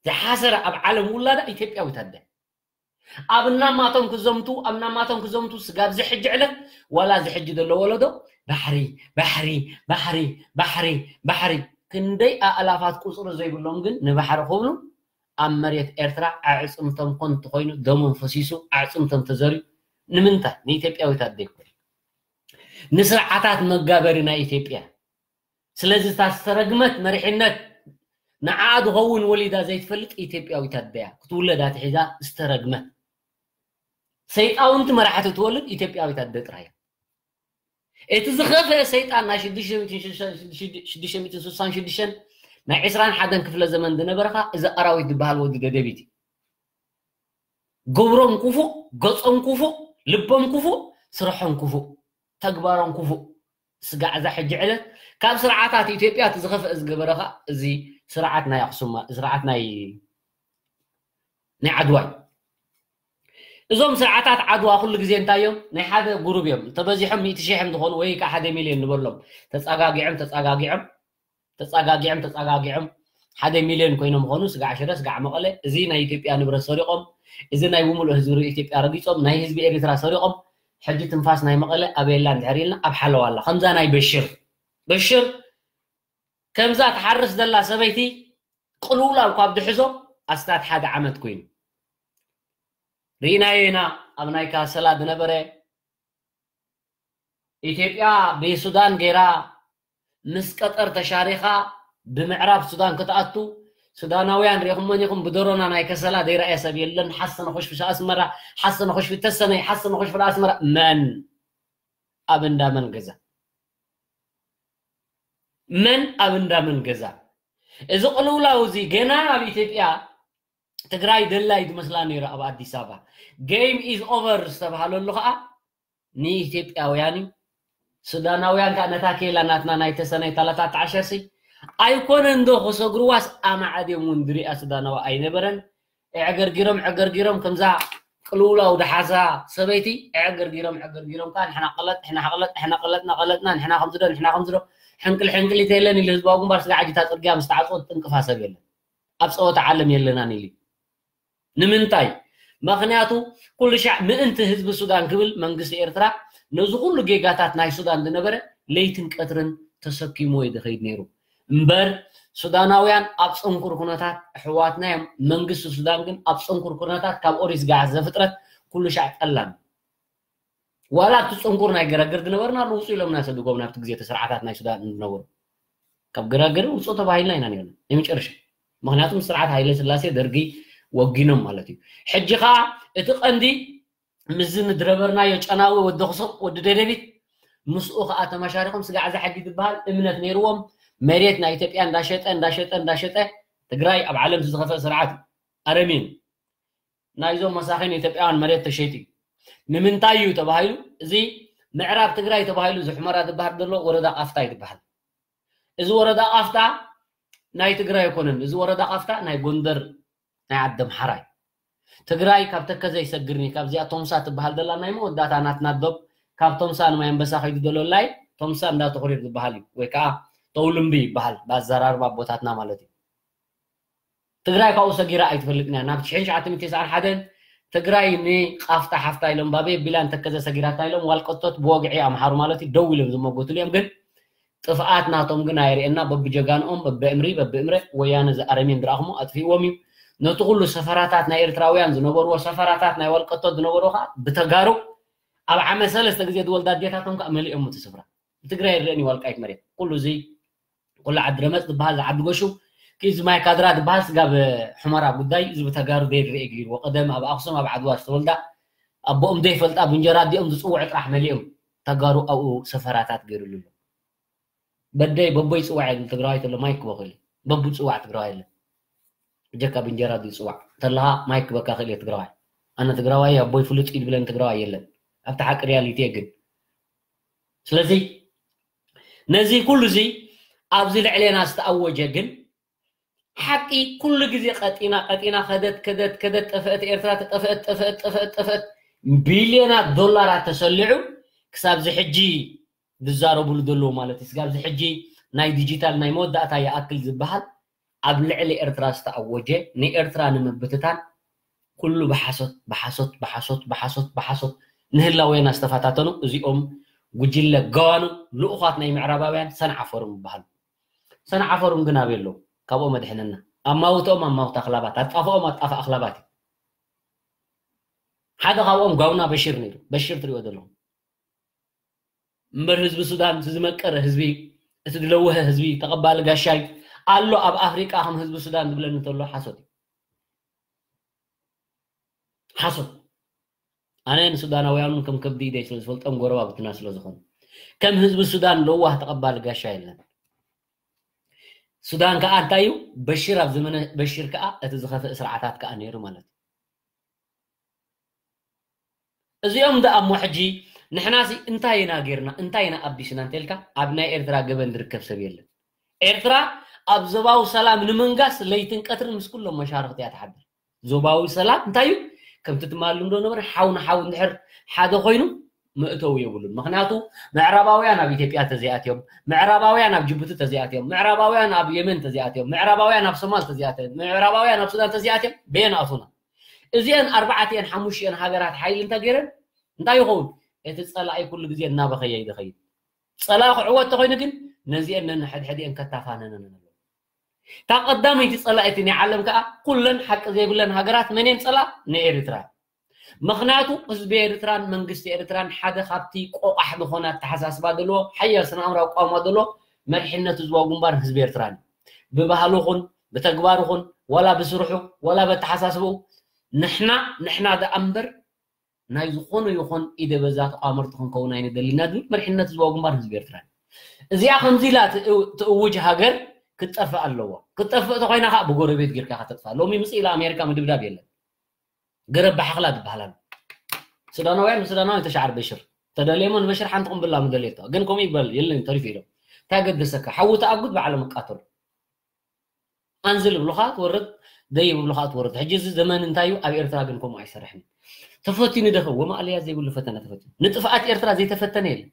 ዝሓሰረ ኣብ ዓለም ውላዳ ኢትዮጵያዊት ኣደ። ኣብ እናማቶም ክዘምቱ፣ ኣብ እናማቶም ክዘምቱ ስጋብ እዚ ሕጂ ዕለት ዋላ እዚ ሕጂ ዘሎ ወለዶ ባሕሪ፣ ባሕሪ፣ ባሕሪ፣ ባሕሪ፣ ባሕሪ። ክንደይ ኣእላፋት ቁጽሪ ዘይብሎም ግን ንባሕሪ ክብሉ ኣብ መሬት ኤርትራ ኣዕጽምቶም ኮንቱ ኮይኑ ደሞም ፈሲሱ ኣዕጽምቶም ተዘርዩ። ንምንታይ? ንኢትዮጵያዊት ኣደ ይኮን። ንስርዓታት መጋበሪ ናይ ኢትዮጵያ። ስለዚ እታ ዝተረግመት መሪሕነት ንዓኣ ዝኸውን ወሊዳ ዘይትፈልጥ ኢትዮጵያዊት ኣደ እያ። ክትውለድ ኣትሒዛ ዝተረግመት። ሰይጣውንቲ መራሕቲ ትወልድ ኢትዮጵያዊት ኣደ ጥራይ እያ። እቲ ዝኸፍአ ሰይጣን ናይ ሽዱሽተ ሚእትን ሽዱሽተ፣ ሽዱሽተ ሚእትን ስሳን ሽዱሽተን ናይ ዕስራን ሓደን ክፍለ ዘመን ዝነበረ ኸኣ እዚ ኣራዊት ዝበሃል ወዲ ደደቢት እዩ። ግብሮም ክፉእ፣ ገጾም ክፉእ፣ ልቦም ክፉእ፣ ስርሖም ክፉእ፣ ተግባሮም ክፉእ። ስጋዕ እዛ ሕጂ ዕለት ካብ ስርዓታት ኢትዮጵያ እቲ ዝኸፍአ ዝገበረ ኸኣ እዚ ስርዓት ናይ ኣኽሱም፣ ስርዓት ናይ፣ ናይ ዓድዋ እዩ። እዞም ስርዓታት ዓድዋ ኩሉ ግዜ እንታይ እዮም? ናይ ሓደ ጉሩብ እዮም። ተበዚሖም ሚእቲ ሺሕ እዮም ዝኾኑ ወይ ከዓ ሓደ ሚልዮን ንበሎም። ተጸጋጊዖም፣ ተጸጋጊዖም ተፃጋጊዖም ተፃጋጊዖም ሓደ ሚልዮን ኮይኖም ምኾኑ፣ ስጋዕ ሽረ፣ ስጋዕ መቐለ፣ እዚ ናይ ኢትዮጵያ ንብረት ሰሪቖም፣ እዚ ናይ ብምሉእ ህዝቢ ኢትዮጵያ ረጊፆም፣ ናይ ህዝቢ ኤርትራ ሰሪቖም፣ ሕጂ ትንፋስ ናይ መቐለ ኣበየላ እንድሕር ኢልና ኣብ ሓለዋ ኣላ። ከምዛ ናይ በሽር፣ በሽር ከምዛ ትሓርስ ዘላ ሰበይቲ ቅልውላው ካብ ድሕዞ ኣስታት ሓደ ዓመት ኮይኑ ርኢናዮ ኢና። ኣብ ናይ ካሰላ ዝነበረ ኢትዮጵያ ብሱዳን ገይራ ምስ ቀጠር ተሻሪኻ ብምዕራብ ሱዳን ክትኣቱ ሱዳናውያን ሪኹመን ኢኹም ብደሮና ናይ ከሰላ ዘይረኣየ ሰብ የለን። ሓሰነ ኮሽፊ ኣስመራ፣ ሓሰነ ኮሽፊ ተሰነይ፣ ሓሰነ ኮሽፊ ኣስመራ። መን ኣብ እንዳ መን ገዛ? መን ኣብ እንዳ መን ገዛ? እዚ ቅልውላው እዚ ገና ኣብ ኢትዮጵያ ትግራይ ደላይ ዝመስላ ነይሩ ኣብ ኣዲስ ኣበባ። Game is over ዝተባሃለሉ ከዓ ንኢትዮጵያውያን እዩ። ሱዳናውያን ከዓ ነታ ኬላ ናትና ናይ ተሰነይ ታላታት ተዓሸሲ ኣይኮነን ዶ ክሰግርዋስ ኣማዕድዮም እውን ዝሪኣ ሱዳናዊ ኣይነበረን። ዕገርጊሮም ዕገርጊሮም ከምዛ ቅልውላው ደሓዛ ሰበይቲ ዕገርጊሮም ዕገርጊሮም ከዓ ንሕና ቀለጥ ንሕና ቀለጥ ንሕና ቀለጥና ቀለጥና ንሕና ከምዝዶ ንሕና ከምዝዶ ሕንቅል ሕንቅሊት የለን ኢሉ ህዝባዊ ግንባር ስጋ ዓጅታ ፅርግያ ምስ ተዓፅወት ጥንቅፋ ሰብ የለን። ኣብ ፀወታ ዓለም የለናን ኢሉ ንምንታይ? ምክንያቱ ኩሉ ሻዕ ምእንቲ ህዝቢ ሱዳን ክብል መንግስቲ ኤርትራ ነዚ ኩሉ ጌጋታት ናይ ሱዳን ዝነበረ ለይትን ቀትርን ተሰኪምዎ እዩ ዝኸይድ ነይሩ። እምበር ሱዳናውያን ኣብ ፅንኩር ኩነታት ኣሕዋትና እዮም። መንግስቲ ሱዳን ግን ኣብ ፅንኩር ኩነታት ካብ ኦሪት ጋዕ ዘፍጥረት ኩሉ ሻዕ ጠላም ዋላ ኣብቲ ፅንኩር ናይ ገረግር ዝነበርና ውፁ ኢሎምና ሰዲጎም ናብቲ ግዜ እቲ ስርዓታት ናይ ሱዳን ዝነበሩ ካብ ገረግር ውፁ ተባሂልና ኢና ነርና ናይ መጨረሻ። ምክንያቱም ስርዓት ሃይለ ስላሴ ደርጊ ወጊኖም ማለት እዩ። ሕጂ ከዓ እቲ ቀንዲ ምስዚ ንድረበርናዮ ጨናዊ ወዲ ክሱቕ ወዲ ደደቢት ምስኡ ከዓ ተመሻሪኾም ስጋዕ ዛሕጊ ዝበሃል እምነት ነይርዎም መሬት ናይ ኢትዮጵያ እንዳሸጠ እንዳሸጠ እንዳሸጠ ትግራይ ኣብ ዓለም ዝኸፈ ስርዓት እዩ። ኣረሚን ናይዞም መሳኺን ኢትዮጵያውያን መሬት ተሸይጡ እዩ። ንምንታይ እዩ ተባሂሉ እዚ ምዕራብ ትግራይ ተባሂሉ እዚ ሑመራ ዝበሃል ዘሎ ወረዳ ቃፍታ ይትበሃል። እዚ ወረዳ ቃፍታ ናይ ትግራይ ኣይኮነን። እዚ ወረዳ ቃፍታ ናይ ጎንደር ናይ ዓዲ ኣምሓራ እዩ። ትግራይ ካብ ተከዘ ይሰግርኒ ካብዚኣ ቶምሳ ትበሃል ዘላ ናይ መወዳእታ ናትና ዶብ ካብ ቶምሳ ንማይ ኣንበሳ ከይዱ ዘሎ ላይ ቶምሳ እንዳተኹሪር ዝበሃል እዩ ወይ ከዓ ተውልምቢ ይበሃል ብኣዘራርባ ኣቦታትና ማለት እዩ። ትግራይ ካብኡ ሰጊራ ኣይትፈልጥን እያ። ናብ ሽሕን ትሽዓተ ሚእትን ተስዓን ሓደን ትግራይ ንቃፍታ ሓፍታ ኢሎም ባበይ ኣቢላ ንተከዘ ሰጊራታ ኢሎም ዋልቀቶት ብወግዒ ኣምሓሩ ማለት እዩ ደው ኢሎም ዝመጎትሉ እዮም። ግን ጥፍኣት ናቶም ግን ኣየርእየና። በብጀጋንኦም በብእምሪ በብእምረ ወያነ ዝኣረሜን ዝረኣኹሞ ኣጥፊእዎም እዩ። ነቲ ኩሉ ሰፈራታት ናይ ኤርትራውያን ዝነበርዎ ሰፈራታት ናይ ዋልቀቶት ዝነበርዎ ከዓ ብተጋሩ ኣብ ዓመት ሰለስተ ግዜ ዝወልዳ ኣዴታቶም ከዓ መሊኦም እቲ ስፍራ። ብትግራይ ይረአን እዩ ዋልቃይት መሬት ኩሉ እዚ ኩሉ ዓዲ ረመፅ ዝበሃል ዝዓዲ ጎሹ ክዚ ማይ ካድራ ዝበሃል ስጋብ ሕመራ ጉዳይ እዚ ብተጋሩ ዘይርአ ገይርዎ ቀደም ኣብ ኣክሱም ኣብ ዓድዋ ዝተወልዳ ኣቦኦም ዘይፈልጣ ብእንጀራ ኣዲኦም ዝፅውዕ ጥራሕ መሊኦም ተጋሩ ኣብኡ ሰፈራታት ገይሩሉ ኣሎ። በደይ በቦይ ፅዋዕ የለን ትግራዋይ ተሎ ማይክ በክል በቡ ፅዋዕ ትግራዋይ የለን። እጀካ ብእንጀራ ዝፅዋዕ ተለካ ማይክ በካ ክእል ትግራዋይ። ኣነ ትግራዋይ ኣቦይ ፍሉጥ ይድብለን ትግራዋይ የለን። ኣብቲ ሓቂ ሪያሊቲ ግን ስለዚ ነዚ ኩሉ እዚ ኣብዚ ልዕሌና ዝተኣወጀ ግን ሓቂ ኩሉ ግዜ ቀጢና ቀጢና ከደት ከደት ከደት ጠፈእት ኤርትራ ተጠፈእት ጠፈእት ጠፈእት ጠፈእት ቢልዮናት ዶላራት ተሰሊዑ ክሳብዚ ሕጂ ዝዛረቡሉ ዘለዉ ማለት እዩ። ስጋብዚ ሕጂ ናይ ዲጂታል ናይ መወዳእታ ይኣክል ዝበሃል ኣብ ልዕሊ ኤርትራ ዝተኣወጀ ንኤርትራ ንምብትታን ኩሉ ብሓሶት ብሓሶት ብሓሶት ብሓሶት ብሓሶት ንህላዌና ዝተፈታተኑ እዚኦም ጉጅለ ገዋኑ ልኡኻት ናይ ምዕራባውያን ሰንዓ ፎርም ይበሃሉ። ሰንዓ ፎርም ግን ኣበይ ኣለዉ? ካብኦም ኣድሕነና። ኣማውትኦም ኣማውት ኣኽላባት፣ ኣጣፍኦም ኣጣፍ ኣኽላባት እዩ። ሓደ ካብኦም ጋውና በሽር ነይሩ። በሽር ትሪኦ ዘለኹም እምበር ህዝቢ ሱዳን እቲ ዝመቀረ ህዝቢ እቲ ዝለወሀ ህዝቢ ተቐባሊ ጋሻይ ኣሎ ኣብ ኣፍሪቃ ከም ህዝቢ ሱዳን ዝብለኒ እንተሎ ሓሶት እዩ። ሓሶት ኣነ ንሱዳናውያን እውን ከም ከብዲ ኢደይ ስለ ዝፈልጦም ጎረባብትና ስለ ዝኾኑ ከም ህዝቢ ሱዳን ለዋህ ተቐባሊ ጋሻ የለን። ሱዳን ከዓ እንታይ እዩ በሽር ኣብ ዘመነ በሽር ከዓ እቲ ዝኸፍእ ስርዓታት ከዓ ነይሩ ማለት እዩ። እዚኦም ደኣ እሞ ሕጂ ንሕናሲ እንታይ ኢና ጌርና እንታይ ኢና ኣቢስና እንተልካ ኣብ ናይ ኤርትራ ገበን ዝርከብ ሰብ የለን። ኤርትራ ኣብ ዞባዊ ሰላም ንምንጋስ ለይትን ቀትርን ምስ ኩሎም መሻርክቲ እያ ትሓድር። ዞባዊ ሰላም እንታይ እዩ? ከምቲ ትማሊ እንዶ ነበረ ሓው ንሓው እንድሕር ሓደ ኮይኑ መእተዊ የብሉን። ምክንያቱ ምዕራባውያን ኣብ ኢትዮጵያ ተዚኣትዮም፣ ምዕራባውያን ኣብ ጅቡቲ ተዚኣትዮም፣ ምዕራባውያን ኣብ የመን ተዚኣትዮም፣ ምዕራባውያን ኣብ ሶማል ተዚኣትዮም፣ ምዕራባውያን ኣብ ሱዳን ተዚኣትዮም በየን ኣእቱና? እዚአን ኣርባዕቲአን ሓሙሽቲአን ሃገራት ሓይሊ እንተገይረን እንታይ ይኸውን? እቲ ጸላኢ ኩሉ ግዜ እናበኸየ ይኸይድ። ጸላኢ ክዕወት ተኾይኑ ግን ነዚአን ነንሕድሕድአን ከታፋነነን ኣለዎ። እታ ቀዳመይቲ ጸላኢቲ ናይ ዓለም ከኣ ኩለን ሓቂ ዘይብለን ሃገራት መን እየን ጸላእ? ንኤርትራ። ምኽንያቱ ህዝቢ ኤርትራን መንግስቲ ኤርትራን ሓደ ካብቲ ቆቋሕ ዝኾነ ኣተሓሳስባ ዘለዎ ሓያል ስነ ኣእምራዊ ቃውማ ዘለዎ መሪሕነት ህዝባዊ ግንባር ህዝቢ ኤርትራን ብባህሉ ኹን ብተግባሩ ኹን ዋላ ብስርሑ ዋላ በተሓሳስብኡ ንሕና ንሕና ደኣ እምበር ናይ ዝኾነ ይኹን ኢደ በዛ ተቋመርቲ ክንከውን ኣይንደሊና ዝብል መሪሕነት ህዝባዊ ግንባር ህዝቢ ኤርትራ እዩ። እዚኣ ከምዚ ኢላ ትእውጅ ሃገር ክትጠፍእ ኣለዋ። ክትጠፍእ ተኮይና ከዓ ብጎረቤት ጌርካ ከተጥፋ። ሎሚ ምጽእ ኢላ ኣሜሪካ ምድብዳብ የለን። ገረብ ብሓኽላ ትበሃል ኣሎ። ሱዳናውያን ንሱዳናውያን ተሻዕር በሽር ተደልየሞ ንበሽር ሓንቲ ቁምብላ ምደልየቶ ግን ከምኡ ይበል የለን ተሪፉ ኢሎም እንታይ ገደሰካ ሓዊ ተኣጉድ ባዕሎም እቃተሉ። ኣንዝል ይብሉኻ ትወርድ ደይብ ይብሉኻ ትወርድ። ሕጂ እዚ ዘመን እንታይ እዩ? ኣብ ኤርትራ ግን ከምኡ ኣይሰርሕን። ተፈቲኑ ደኸ ወማእለያ ዘይብሉ ፈተነ ተፈቲኑ። ንጥፍኣት ኤርትራ ዘይተፈተነ የለን።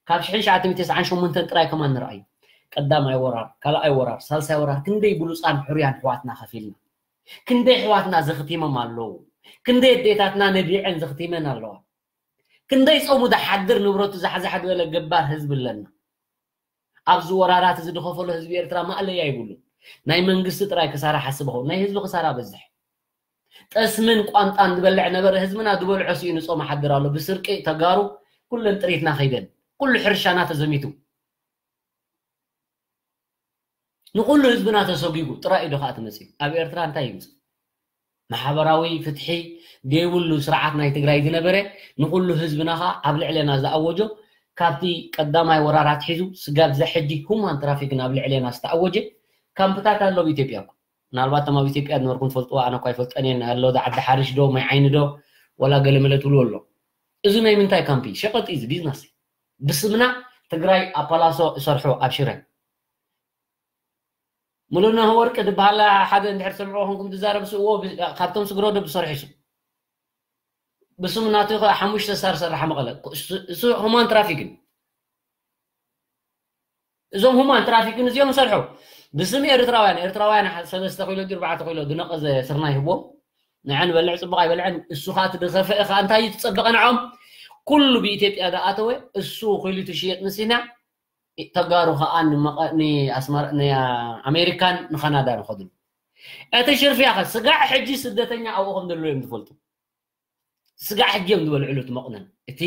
ካብ ሽሕን ትሽዓተ ሚእትን ተስዓን ሸሞንተን ጥራይ ከማን ንርኣዩ። ቀዳማይ ወራር፣ ካልኣይ ወራር፣ ሳልሳይ ወራር ክንደይ ብሉፃን ሕሩያን ኣሕዋትና ከፊልና። ክንደይ ኣሕዋትና ዘኽቲሞም ኣለዉ። ክንደይ ኣዴታትና ነቢዐን ዘኽቲመን ኣለዋ። ክንደይ ጾሙ ዝሓድር ንብረቱ ዛሕዛሕ ዝበለ ገባር ህዝቢ ኣለና። ኣብዚ ወራራት እዚ ዝኸፈሎ ህዝቢ ኤርትራ ማእለያ ይብሉን። ናይ መንግስቲ ጥራይ ክሳራ ሓስብ ኸውን ናይ ህዝቢ ክሳራ በዝሕ። ጠስምን ቋንጣን ዝበልዕ ነበረ ህዝብና ዝበልዖ ስኢኑ ጾም ሓድር ኣሎ። ብስርቂ ተጋሩ ኩለን ጥሪትና ከይደን ኩሉ ሕርሻና ተዘሚቱ። ንኹሉ ህዝብና ተሰጒጉ ጥራይ እዩ ዶ ከዓ ትመፅእ ኣብ ኤርትራ እንታይ ይምፅእ? ማሕበራዊ ፍትሒ ዘይብሉ ስርዓት ናይ ትግራይ ዝነበረ ንኹሉ ህዝብና ከዓ ኣብ ልዕለና ዝኣወጆ ካብቲ ቀዳማይ ወራራት ሒዙ ስጋብ ዘሕጂ ሁማን ትራፊክን ኣብ ልዕለና ዝተኣወጀ ካምፕታት ኣሎ ኣብ ኢትዮጵያ እኮ። ምናልባት እቶም ኣብ ኢትዮጵያ ዝነበርኩም ትፈልጥዎ ኣነ እኳ ይፈልጠን እየን ኣሎ ዓዲ ሓሪሽ ዶ ማይ ዓይኒ ዶ ወላ ገለመለ ትብሉ ኣሎ። እዚ ናይ ምንታይ ካምፕ እዩ? ሸቐጥ እዩ ቢዝነስ። ብስምና ትግራይ ኣብ ፓላሶ እሰርሑ ኣብ ሽረ ሙሉነህ ወርቂ ዝበሃል ሓደ እንድሕር ትሰምዕዎ ኮንኩም ትዛረብ ስእዎ ካብቶም ስግረዶ ዝሰርሑ እዩ። ብስም ናቱ ከ ሓሙሽተ ስታር ዝሰርሓ መቐለ እሱ ሁማን ትራፊክን እዞም ሁማን ትራፊክን እዚኦም ዝሰርሑ ብስም ኤርትራውያን ኤርትራውያን ሰለስተ ኪሎ ድዩ ኣርባዕተ ኪሎ ዝነቐዘ ስርናይ ይህብዎም። ንዐ ንበልዕ ጽቡቕ ኣይበልዐን እሱ ከዓ እቲ ዝኸፍአ ከዓ እንታይ እዩ ትጸበቐ ንዖም ኩሉ ብኢትዮጵያ ዝኣተወ እሱ ኪሉ ትሽየጥ ንሲና ተጋሩ ከዓ ንኣሜሪካን ንካናዳ ንኸድሉ እቲ ሽርፍያ ከ ስጋዕ ሕጂ ስደተኛ ኣብኡ ከም ዘሎ እዮም ዝፈልጡ ስጋዕ ሕጂ እዮም ዝበልዕሉ እቲ መቑነን እቲ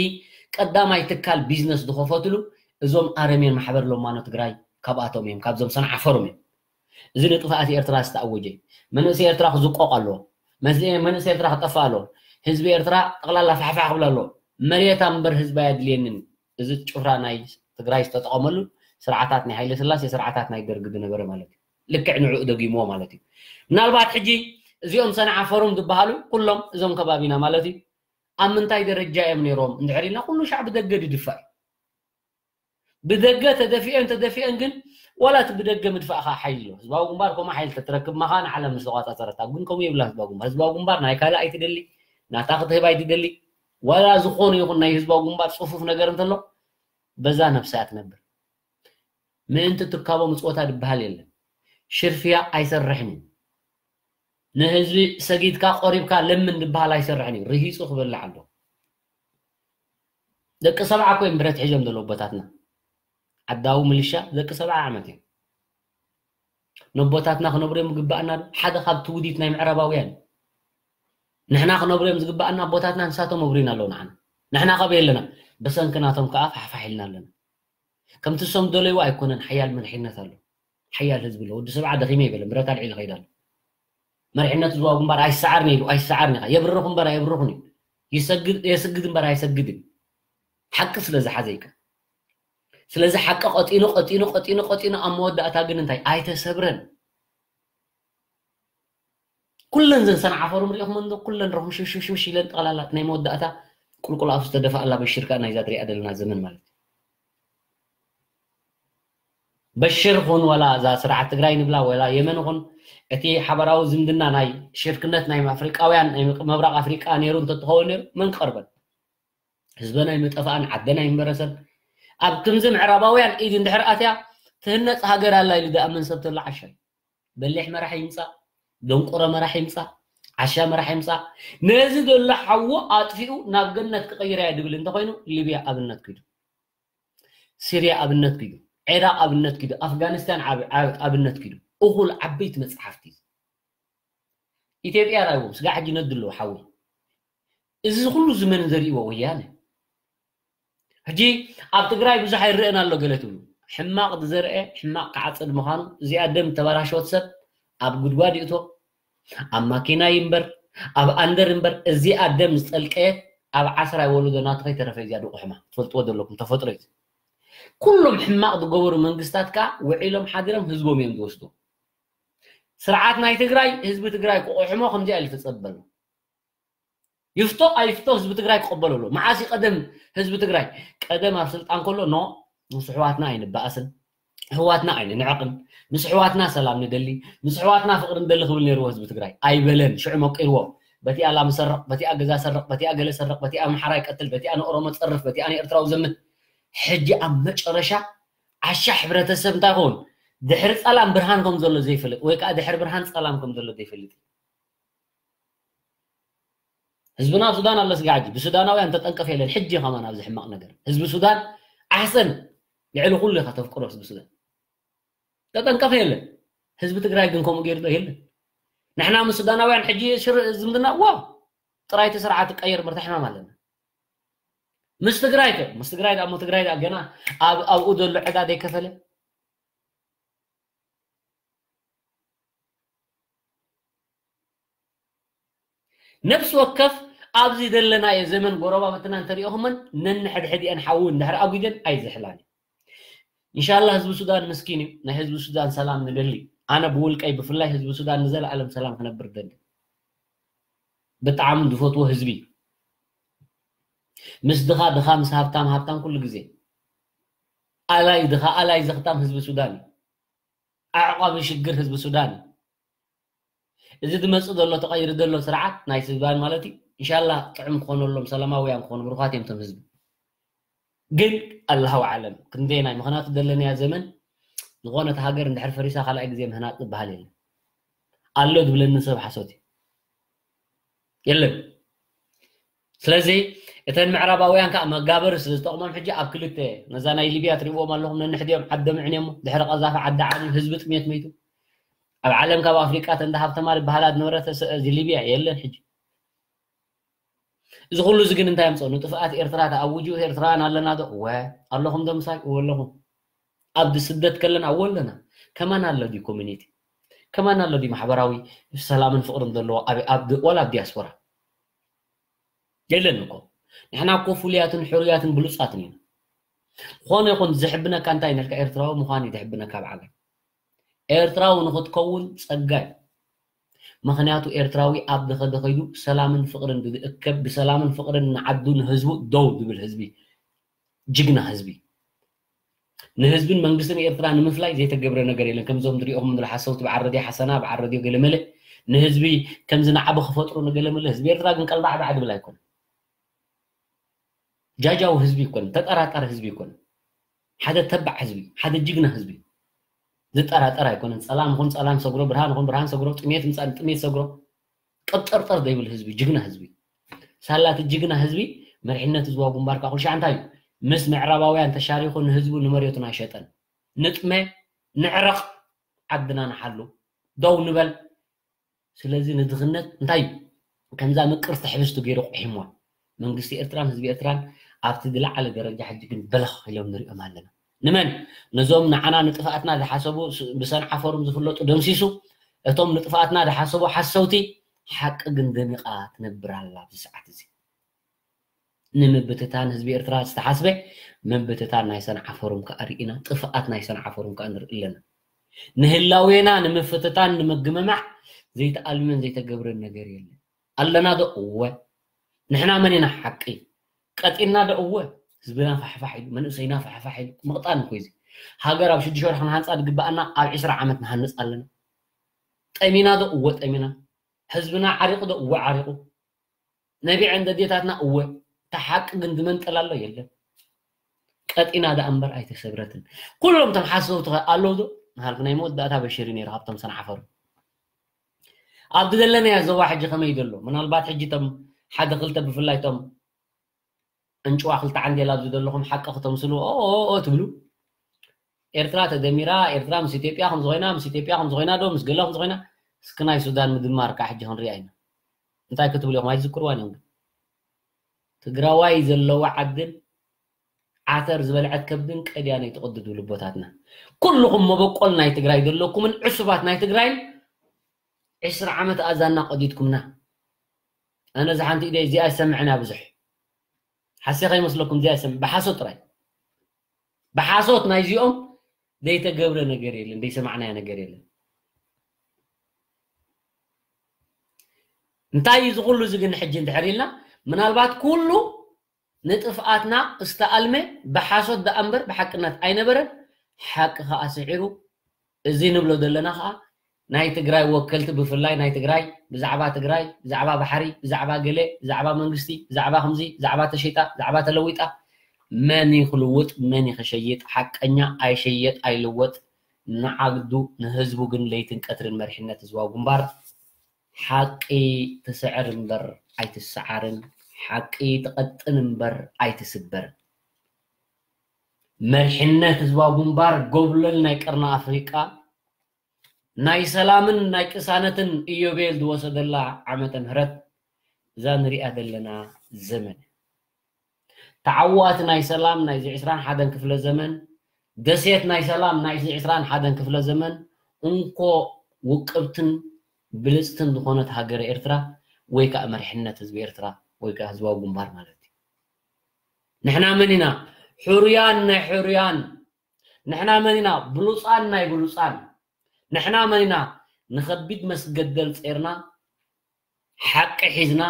ቀዳማይ ትካል ቢዝነስ ዝኸፈትሉ እዞም ኣረሜን ማሕበር ሎማኖ ትግራይ ካብኣቶም እዮም ካብዞም ሰንዓፈሮም እዮም እዚ ንጥፍኣት ኤርትራ ዝተኣወጀ መንእሰይ ኤርትራ ክዝቆቕ ኣለዎ መንእሰይ ኤርትራ ክጠፍእ ኣለዎ ህዝቢ ኤርትራ ጠቕላላ ፋሕፋሕ ክብል ኣለዎ መሬት እምበር ህዝቢ ኣየድልየንን እዚ ጭፍራ ናይ ትግራይ ዝተጠቐመሉ ስርዓታት ናይ ሃይለ ስላሴ ስርዓታት ናይ ደርጊ ዝነበረ ማለት እዩ ልክዕ ንዕኡ ደጊምዎ ማለት እዩ ምናልባት ሕጂ እዚኦም ሰንዓ ፎሩም ዝበሃሉ ኩሎም እዞም ከባቢና ማለት እዩ ኣብ ምንታይ ደረጃ እዮም ነይሮም እንድሕር ኢልና ኩሉ ሻዕ ብደገ ድድፋእ እዩ ብደገ ተደፊአን ተደፊአን ግን ዋላ እቲ ብደገ ምድፋእካ ሓይሊ ኣሎ ህዝባዊ ግንባር ከምኡ ሓይሊ ተትረክብ ማኻ ንዓለም ምስ ተቋፃፀረታ ግን ከምኡ የብላ ህዝባዊ ግንባር ህዝባዊ ግንባር ናይ ካልእ ኣይትደሊ ናታ ክትህብ ኣይትደሊ ዋላ ዝኾነ ይኹን ናይ ህዝባዊ ግንባር ፅፉፍ ነገር እንተሎ በዛ ነብሳ እያ ትነብር ምእንቲ ትካቦ ምፅወታ ዝበሃል የለን ሽርፍያ ኣይሰርሕን እዩ ንህዝቢ ሰጊድካ ቆሪብካ ለምን ዝበሃል ኣይሰርሕን እዩ ርሂፁ ክበልዕ ኣሎ ደቂ ሰብዓ እኮ እዮም ብረት ሒዞም ዘለዉ ኣቦታትና ዓዳዊ ምልሻ ደቂ ሰብዓ ዓመት እዮም ነቦታትና ክነብሩ እዮም ዝግባኣና ዶ ሓደ ካብ ትውዲት ናይ ምዕራባውያን ንሕና ክነብሩ እዮም ዝግባኣና ኣቦታትና ንሳቶም ኣብሩና ኣለዉ ንዓና ንሕና ካብ የለና ብሰንኪ ናቶም ከዓ ፋሕፋሕ ኢልና ኣለና ከምቲ እሶም ደለይዎ ኣይኮነን ሓያል መሪሕነት ኣሎ ሓያል ህዝቢ ኣሎ ወዲ ሰብዓ ደኺመ ይበለ ብረት ኣልዒሉ ከይዳ ኣሎ መሪሕነት ዝዋ ግንባር ኣይሰዓርን ኢሉ ኣይሰዓርን ኢኻ የብርኽ እምበር ኣየብርኽን እዩ የስግድ እምበር ኣይሰግድን ሓቂ ስለ ዝሓዘ ይቀ ስለዚ ሓቂ ቀጢኑ ቀጢኑ ቀጢኑ ቀጢኑ ኣብ መወዳእታ ግን እንታይ ኣይተሰብረን ኩለን ዘን ሰንዓፈሩም ሪኢኹም እንዶ ኩለን ረኹም ሽሽሽሽ ኢለን ጠቕላላ ናይ መወዳእታ ቁልቁል ኣፍ ዝተደፋኣላ በሽር ከኣ ናይዛ ትሪኣ ዘለና ዘመን ማለት እዩ በሽር ኹን ወላ እዛ ስርዓት ትግራይ ንብላ ወላ የመን ኹን እቲ ሓበራዊ ዝምድና ናይ ሽርክነት ናይ ኣፍሪቃውያን ናይ ምብራቕ ኣፍሪቃ ነይሩ እንተትኸውን ነይሩ መን ክቐርበን ህዝበን ኣይምጠፍኣን፣ ዓደን ኣይምበረሰን። ኣብ ክንዚ ምዕራባውያን ኢድ እንድሕር ኣትያ ትህነፅ ሃገር ኣላ ኢሉ ዝኣምን ሰብ ተሎ ዓሻ እዩ። በሊሕ መራሒ ይምፃእ፣ ደንቆሮ መራሒ ይምፃእ፣ ዓሻ መራሒ ይምፃእ፣ ነዚ ዘሎ ሓዉ ኣጥፊኡ ናብ ገነት ክቐይራ እየ ድብል እንተኾይኑ፣ ሊብያ ኣብነት ኪዱ፣ ሲርያ ኣብነት ኪዱ፣ ዒራቕ ኣብነት ኪዱ፣ ኣፍጋኒስታን ዓብ- ዓብ- ኣብነት ኪዱ። እኹል ዓበይቲ መፅሓፍቲ ኢትዮጵያ ራይዎም ስጋ ሕጂ ነድሎ ሓዊ። እዚ ኩሉ ዝመን ዘርእዎ ወያነ። ሕጂ ኣብ ትግራይ ብዙሕ ኣይረአን ኣሎ ገለ ትብሉ። ሕማቕ ዝዘርአ ሕማቕ ክዓጽድ ምዃኑ፣ እዚኣ ደም ተበላሸወት ሰብ ኣብ ጉድጓድ ይእቶ፣ ኣብ ማኪና ይንበር፣ ኣብ ኣንደር እምበር፣ እዚኣ ደም ዝጠልቀየት ኣብ ዓስራይ ወለዶ ናቱ ከይተረፈ እዚኣ ድቑ ሕማቕ ትፈልጥዎ ዘለኩም ተፈጥሮ እዩ። ኩሎም ሕማቕ ዝገበሩ መንግስታት ከኣ ውዒሎም ሓዲሮም ህዝቦም እዮም ዝወስዱ። ስርዓት ናይ ትግራይ ህዝቢ ትግራይ ክቑሕሞ ከምዚኣ ኢሉ ተጸበሉ። ይፍቶ ኣይፍቶ ህዝቢ ትግራይ ክቐበሎ ኣለዎ። መዓስ እዩ ቀደም ህዝቢ ትግራይ? ቀደም ኣብ ስልጣን ከሎ ኖ ምስ ኣሕዋትና ኣይንበኣስን፣ ኣሕዋትና ኣይንንዕቕን፣ ምስ ኣሕዋትና ሰላም ንደሊ፣ ምስ ኣሕዋትና ፍቕሪ ንደሊ ክብል ነይርዎ ህዝቢ ትግራይ። ኣይበለን፣ ሽዑ መቂርዎ። በቲኣ ላም ሰርቕ፣ በቲኣ ገዛ ሰርቕ፣ በቲኣ ገለ ሰርቕ፣ በቲኣ ኣምሓራ ይቀትል፣ በቲኣ ንኦሮሞ ጸርፍ፣ በቲኣ ንኤርትራዊ ዘምት። ሕጂ ኣብ መጨረሻ ዓሻ ሕብረተሰብ እንታይ ኸውን? ድሕሪ ጸላም ብርሃን ከም ዘሎ ዘይፈልጥ ወይ ከዓ ድሕሪ ብርሃን ጸላም ከም ዘሎ ዘይፈልጥ። ህዝብና ኣብ ሱዳን ኣሎ ስጋ ሕጂ ብሱዳናውያን ተጠንቀፍ የለን። ሕጂ ከማን ኣብዚ ሕማቕ ነገር ህዝቢ ሱዳን ዓሰን ልዕሊ ኩሉ ኢኻ ተፍቅሮ ህዝቢ ሱዳን ተጠንቀፍ የለን። ህዝቢ ትግራይ ግን ከምኡ ገይሩ ዶ የለን? ንሕና ምስ ሱዳናውያን ሕጂ ሽር ዝምድና ዋ ጥራይቲ ስርዓት ትቀየር ምርታ ሕማም ኣለና። ምስ ትግራይ ከ ምስ ትግራይ ዳሞ ትግራይ ዳ ገና ኣብ ኣብኡ ዘሎ ዕዳ ዘይከፈለ ነፍሲ ወከፍ ኣብዚ ዘለናዮ ዘመን ጎረባብትና እንተሪኦኹመን ነንሕድሕድኤን ሓዊ እንድሕር ኣጒደን ኣይዝሕላን እዩ። ኢንሻላህ ህዝቢ ሱዳን ምስኪን እዩ። ናይ ህዝቢ ሱዳን ሰላም ንደሊ። ኣነ ብውልቀይ ብፍላይ ህዝቢ ሱዳን ንዘለኣለም ሰላም ክነብር ደሊ። ብጣዕሚ ዝፈትዎ ህዝቢ እዩ። ምስ ድኻ ድኻ ምስ ሃብታም ሃብታም ኩሉ ግዜ። ኣላይ ድኻ ኣላይ ዘኽታም ህዝቢ ሱዳን እዩ። ኣዕቋቢ ሽግር ህዝቢ ሱዳን እዩ። እዚ ዝመፅእ ዘሎ ተቐይሩ ዘሎ ስርዓት ናይ ሱዳን ማለት እዩ። ኢንሻላህ ጥዑም ክኾነሎም ሰላማውያን ክኾኑ ብሩኻት እዮም ቶም ህዝቢ። ግን ኣላሁ ኣዕለም ክንደየናይ ምኽንያቱ ዘለናያ ዘመን ዝኾነት ሃገር እንድሕር ፈሪሳ ካልኣይ ግዜ ምህናፅ ዝበሃል የለን። ኣሎ ዝብለኒ ሰብ ሓሶት እዩ። የለን። ስለዚ እተን ምዕራባውያን ከዓ መጋበሪ ስለ ዝጠቕሞም ሕጂ ኣብ ክልተ ነዛ ናይ ሊብያ ትሪእዎም ኣለኹም ነንሕድዮም ዓዶም ዕንዮሞ ድሕሪ ቀዛፊ ዓዲ ዓብዩ ህዝቢ ጥሜት መይቱ ኣብ ዓለም ካብ ኣፍሪቃ ተንዳ ሃብተማ ዝበሃላ ዝነበረ እዚ ሊብያ የለን ሕጂ። እዚ ኩሉ እዚ ግን እንታይ ኣምፅኦ? ንጥፍኣት ኤርትራ ተኣውጁ። ኤርትራውያን ኣለና ዶ? እወ ኣለኹም ዶ ምሳይ? እወ ኣለኹም። ኣብ ስደት ከለና እወ ኣለና። ከማን ኣሎ ድዩ ኮሚኒቲ? ከማን ኣሎ ድዩ ማሕበራዊ ሰላምን ፍቕርን ዘለዎ ኣብ ዋላ ኣብ ዲያስፖራ? የለን እኮ። ንሕና እኮ ፍሉያትን ሕሩያትን ብሉፃትን ኢና። ዝኾነ ይኹን ዝሕብነካ እንታይ ነልካ ኤርትራዊ ምዃን እዩ ዝሕብነካ ኣብ ዓለም። ኤርትራዊ ንኽትከውን ጸጋ እዩ። ምኽንያቱ ኤርትራዊ ኣብ ዝኸደ ከይዱ ሰላምን ፍቕርን ዝእከብ ብሰላምን ፍቕርን ንዓዱ ንህዝቡ ደው ዝብል ህዝቢ ጅግና ህዝቢ። ንህዝብን መንግስትን ኤርትራ ንምፍላይ ዘይተገብረ ነገር የለን። ከምዞም ዝሪኦኹም ዘለኹ ሓሰውቲ በዓል ረድዮ ሓሰና በዓል ረድዮ ገለመለ ንህዝቢ ከምዚ ንዓቢ ክፈጥሩ ንገለመለ ህዝቢ ኤርትራ ግን ቀልባዕባዕ ዝብል ኣይኮነን። ጃጃው ህዝቢ ይኮን፣ ተጠራጣሪ ህዝቢ ይኮን። ሓደ ተባዕ ህዝቢ፣ ሓደ ጅግና ህዝቢ ዝጠራጠር ኣይኮነን። ጸላም ይኹን ጸላም ሰግሮ፣ ብርሃን ይኹን ብርሃን ሰግሮ፣ ጥሜት ምጻእ ጥሜት ሰግሮ፣ ቀብጠርጠር ዘይብል ህዝቢ፣ ጅግና ህዝቢ። ሳላቲ ጅግና ህዝቢ መሪሕነት ህዝባዊ ግንባር ከዓ ኩሉ ሻዕ እንታይ እዩ? ምስ ምዕራባውያን ተሻሪኹ ንህዝቡ ንመሬቱን ኣይሸጠን። ንጥመ፣ ንዕረቕ፣ ዓድና ንሓሉ፣ ደው ንበል። ስለዚ ንድኽነት እንታይ እዩ? ከምዛ ምቅርቲ ሕብስቲ ገይሩ ኣቑሒምዋ። መንግስቲ ኤርትራን ህዝቢ ኤርትራን ኣብቲ ዝለዓለ ደረጃ ሕጂ ግን በለኽ ኢሎም ንሪኦም ኣለና። ንመን? ነዞም ንዓና ንጥፍኣትና ዝሓሰቡ ስ- ብሰንዓፈሩም ዝፍለጡ ደምሲሱ፣ እቶም ንጥፍኣትና ዝሓሰቡ ሓሰውቲ፣ ሓቂ ግን ደሚቓ ትነብር ኣላ ኣብዚ ሰዓት እዚ። ንምብትታን ህዝቢ ኤርትራ ዝተሓስበ ምብትታን ናይ ሰንዓፈሩም ከኣ ርኢና፣ ጥፍኣት ናይ ሰንዓፈሩም ከኣ ንርኢ ኣለና። ንህላዌና ንምፍትታን ንምግምማዕ ዘይተኣልመን ዘይተገብረን ነገር የለን። ኣለና ዶ? እወ። ንሕና መን ኢና ሓቂ? ቀጢና ዶ? እወ። ህዝብና ፋሕፋሕ ኢሉ፣ መንእሰይና ፋሕፋሕ ኢሉ፣ ምቕጣን እኮ እዩ እዚ። ሃገር ኣብ ሽዱሽተ ወርሒ ክንሃንፃ ዝግበኣና ኣብ ዕስራ ዓመት ንሃንፅ ኣለና። ጠሚና ዶ? እወ ጠሚና። ህዝብና ዓሪቑ ዶ? እወ ዓሪቑ። ነቢዐን ደዴታትና እወ። እታ ሓቂ ግን ዝመንጠላ ኣሎ የለን። ቀጢና ደኣ እምበር ኣይተሰብረትን። ኩሎም እቶም ሓሰውቲ ኸ ኣለዉ ዶ? ንሃልኩ ናይ መወዳእታ በሽር እዩ ነይሩ ካብቶም ሰንዓፈሩ። ኣብቲ ዘለናዮ ዞባ ሕጂ ከመይ ዘሎ? ምናልባት ሕጂ እቶም ሓደ ክልተ ብፍላይ እቶም እንጭዋ ክልተ ዓንዴል ኣብዚ ዘለኹም ሓቂ ክተምስሉ ኦ ኦ ኦ ትብሉ። ኤርትራ ተደሚራ፣ ኤርትራ ምስ ኢትዮጵያ ከም ዝኾይና፣ ምስ ኢትዮጵያ ከም ዝኾይና ዶ ምስ ገለ ከም ዝኾይና፣ እስኪ ናይ ሱዳን ምድማር ከዓ ሕጂ ክንሪኣ ኢና። እንታይ ክትብሉ ኢኹም? ኣይትዝክርዋን እዮም ግን። ትግራዋይ ዘለዋ ዓድን ዓተር ዝበልዐት ከብድን ቀድያ ናይ ትቕድዱ ልቦታትና። ኩልኹም መበቆል ናይ ትግራይ ዘለኩምን ዕሱባት ናይ ትግራይ ዕስራ ዓመት ኣዛና ቀዲድኩምና። ኣነ እዛ ሓንቲ ኢደይ እዚኣ ይሰምዕን እያ ብዙሕ። ሓሴ ከይመስለኩም እዚኣ ይሰምዕ። ብሓሶት ጥራይ። ብሓሶት ናይዚኦም ዘይተገብረ ነገር የለን፣ ዘይሰማዕናዮ ነገር የለን። እንታይ እዩ እዚ ኩሉ እዚ ግን ሕጂ እንድሕር ኢልና፣ ምናልባት ኩሉ ንጥፍኣትና ዝተኣልመ ብሓሶት ደኣ እምበር ብሓቅነት ኣይነበረን። ሓቂ ከኣ ስዒሩ፣ እዚ ንብሎ ዘለና ከኣ ናይ ትግራይ ወከልቲ፣ ብፍላይ ናይ ትግራይ፣ ብዛዕባ ትግራይ፣ ብዛዕባ ባሕሪ፣ ብዛዕባ ገለ፣ ብዛዕባ መንግስቲ፣ ብዛዕባ ከምዚ፣ ብዛዕባ ተሸይጣ፣ ብዛዕባ ተለዊጣ፣ መን እዩ ክልውጥ፣ መን እዩ ክሸይጥ፣ ሓቀኛ ኣይሸየጥ ኣይልወጥ፣ ንዓዱ ንህዝቡ ግን ለይትን ቀትርን መሪሕነት ህዝባዊ ግንባር ሓቂ ትስዕር እምበር ኣይትሰዓርን፣ ሓቂ ትቐጥን እምበር ኣይትስበርን። መሪሕነት ህዝባዊ ግንባር ጎብለል ናይ ቀርኒ ኣፍሪቃ ናይ ሰላምን ናይ ቅሳነትን ኢዮቤል ዝወሰደላ ዓመተ ምህረት እዛ ንሪኣ ዘለና ዘመን። ተዓዋቲ ናይ ሰላም ናይዚ ዕስራን ሓደን ክፍለ ዘመን፣ ደሴት ናይ ሰላም ናይዚ ዕስራን ሓደን ክፍለ ዘመን፣ እንኮ ውቅብትን ብልጽትን ዝኾነት ሃገረ ኤርትራ ወይ ከዓ መሪሕነት ህዝቢ ኤርትራ ወይ ከዓ ህዝባዊ ግንባር ማለት እዩ። ንሕና መን ኢና? ሕሩያን ናይ ሕሩያን። ንሕና መን ኢና? ብሉጻን ናይ ብሉጻን። ንሕና መን ኢና? ንኸቢድ መስገደል ጼርና፣ ሓቂ ሒዝና፣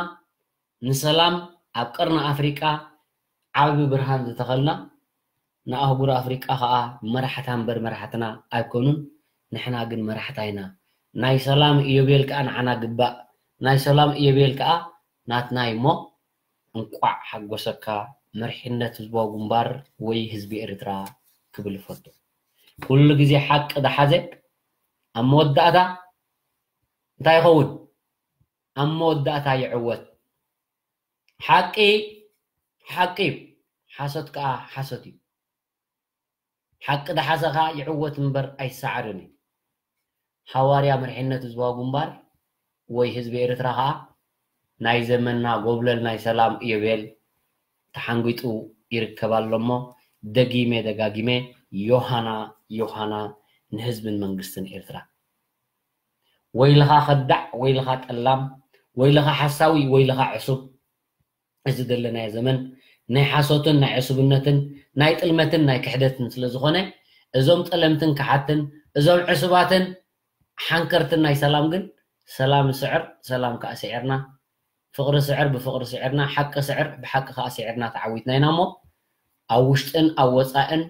ንሰላም ኣብ ቀርኒ ኣፍሪቃ ዓቢ ብርሃን ዝተኸልና፣ ንኣህጉር ኣፍሪቃ ኸኣ መራሕታ እምበር መራሕትና ኣይኮኑን። ንሕና ግን መራሕታ ኢና። ናይ ሰላም ኢዮቤል ከኣ ንዓና ግባእ። ናይ ሰላም ኢዮቤል ከኣ ናትና እዩ እሞ፣ እንቋዕ ሓጎሰካ መሪሕነት ህዝባዊ ግንባር ወይ ህዝቢ ኤርትራ ክብል እፈቱ። ኩሉ ግዜ ሓቂ ዝሓዘ ኣብ መወዳእታ እንታይ ይኸውን? ኣብ መወዳእታ ይዕወት። ሓቂ ሓቂ እዩ፣ ሓሶት ከኣ ሓሶት እዩ። ሓቂ ዝሓዘ ከኣ ይዕወት እምበር ኣይሰዓርን እዩ። ሓዋርያ መሪሕነት ህዝባዊ ግንባር ወይ ህዝቢ ኤርትራ ከኣ ናይ ዘመንና ጎብለል ናይ ሰላም ኢዮቤል ተሓንጒጡ ይርከብ ኣሎ እሞ፣ ደጊመ ደጋጊመ ዮሃና ዮሃና ንህዝብን መንግስትን ኤርትራ። ወይልኻ ከዳዕ፣ ወይልኻ ጠላም፣ ወይልኻ ሓሳዊ፣ ወይልኻ ዕሱብ። እዚ ዘለናዮ ዘመን ናይ ሓሶትን ናይ ዕሱብነትን ናይ ጥልመትን ናይ ክሕደትን ስለ ዝኾነ፣ እዞም ጠለምትን ከሓድትን፣ እዞም ዕሱባትን ሓንከርትን ናይ ሰላም ግን፣ ሰላም ስዕር፣ ሰላም ከኣ ስዒርና፣ ፍቕሪ ስዕር ብፍቕሪ ስዒርና፣ ሓቂ ስዕር ብሓቂ ከኣ ስዒርና ተዓዊትና ኢና እሞ፣ ኣብ ውሽጥን ኣብ ወጻእን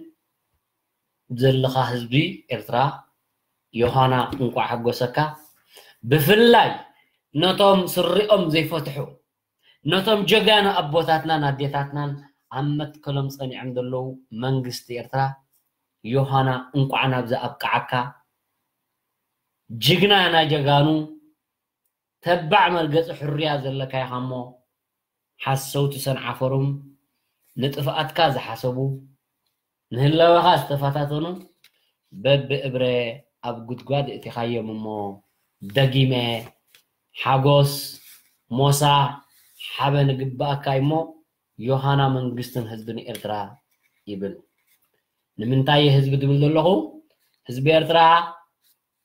ዘለኻ ህዝቢ ኤርትራ፣ ዮሃና እንቋዕ ሓጎሰካ። ብፍላይ ነቶም ስሪኦም ዘይፈትሑ፣ ነቶም ጀጋኑ ኣቦታትናን ኣዴታትናን ኣብ መትከሎም ጸኒዖም ዘለዉ መንግስቲ ኤርትራ፣ ዮሃና እንቋዕ ናብዚ ኣብቅዓካ። ጅግና ናይ ጀጋኑ፣ ተባዕ መርገጺ ሕሩያ ዘለካ ኢኻ እሞ፣ ሓሰውቲ ሰንዓፈሩም ንጥፍኣትካ ዝሓሰቡ፣ ንህላወኻ ዝተፈታተኑ በብእብረ ኣብ ጉድጓድ እቲኻዮም እሞ፣ ደጊመ ሓጎስ ሞሳ ሓበን ይግበኣካ እሞ፣ ዮሃና መንግስትን ህዝብን ኤርትራ ይብል። ንምንታይ እየ ህዝቢ ዝብል ዘለኹ? ህዝቢ ኤርትራ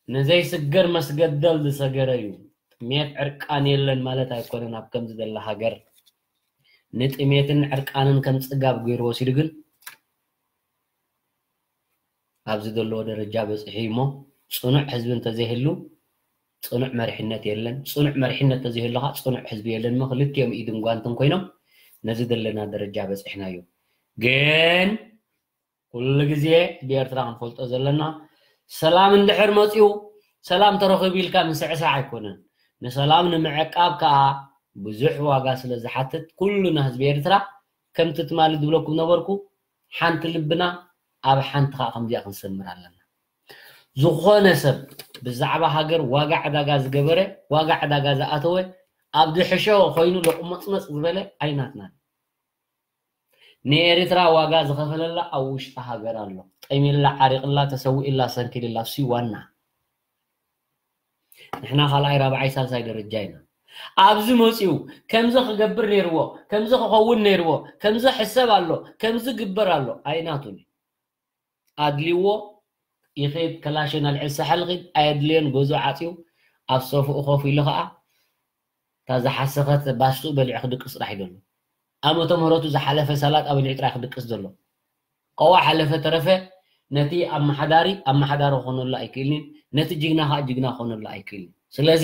ንዘይስገር መስገደል ዝሰገረ እዩ። ጥሜት ዕርቃን የለን ማለት ኣይኮነን። ኣብ ከምዚ ዘላ ሃገር ንጥሜትን ዕርቃንን ከም ጽጋብ ገይሩ ወሲዱ ግን ኣብዚ ዘለዎ ደረጃ በጺሑ እዩ እሞ፣ ጽኑዕ ህዝቢ እንተዘይህሉ ጽኑዕ መሪሕነት የለን። ጽኑዕ መሪሕነት እንተዘይህሉ ኸዓ ጽኑዕ ህዝቢ የለን እሞ፣ ክልቲኦም ኢድን ጓንትን ኮይኖም ነዚ ዘለና ደረጃ በጺሕናዮ። ግን ኩሉ ግዜ ብኤርትራ ክንፈልጦ ዘለና፣ ሰላም እንድሕር መጺኡ፣ ሰላም ተረኺቡ ኢልካ ምስዕሳዕ ኣይኮነን። ንሰላም ንምዕቃብ ከኣ ብዙሕ ዋጋ ስለ ዝሓትት፣ ኩሉና ህዝቢ ኤርትራ ከምቲ ትማሊ ዝብለኩም ነበርኩ፣ ሓንቲ ልብና ኣብ ሓንቲ ከዓ ከምዚኣ ክንሰምር ኣለና። ዝኾነ ሰብ ብዛዕባ ሃገር ዋጋ ዕዳጋ ዝገበረ፣ ዋጋ ዕዳጋ ዝኣተወ፣ ኣብ ድሕሾ ኮይኑ ለቁመፅመፅ ዝበለ ኣይናትናን። ንኤርትራ ዋጋ ዝኸፈለላ ኣብ ውሽጢ ሃገር ኣሎ። ጠሚላ፣ ዓሪቕላ፣ ተሰዊእላ፣ ሰንኪልላ፣ እሱ ዋና። ንሕና ካልኣይ፣ ራብዓይ፣ ሳልሳይ ደረጃ ኢና። ኣብዚ መፂኡ ከምዚ ክገብር ነይርዎ፣ ከምዚ ክኸውን ነይርዎ፣ ከምዚ ሕሰብ ኣሎ፣ ከምዚ ግበር ኣሎ ኣይናቱን። ኣድልዎ ይኸይድ፣ ከላሽን ኣልዕል ሳሕል ኺድ፣ ኣየድልዮን ገዝኡ ዓፅዩ ኣብ ሶፍኡ ኮፍ ኢሉ ኸዓ እታ ዝሓሰኸት ባስኡ በሊዑ ክድቅስ ጥራሕ እዩ ዘሎ። ኣመተ ምህረቱ ዝሓለፈ ሰላጣ በሊዑ ጥራሕ ክድቅስ ዘሎ። ቀዋ ሓለፈ ተረፈ ነቲ ኣመሓዳሪ ኣመሓዳሪ ክኾነሉ ኣይክእልን፣ ነቲ ጅግና ከዓ ጅግና ክኾነሉ ኣይክእልን። ስለዚ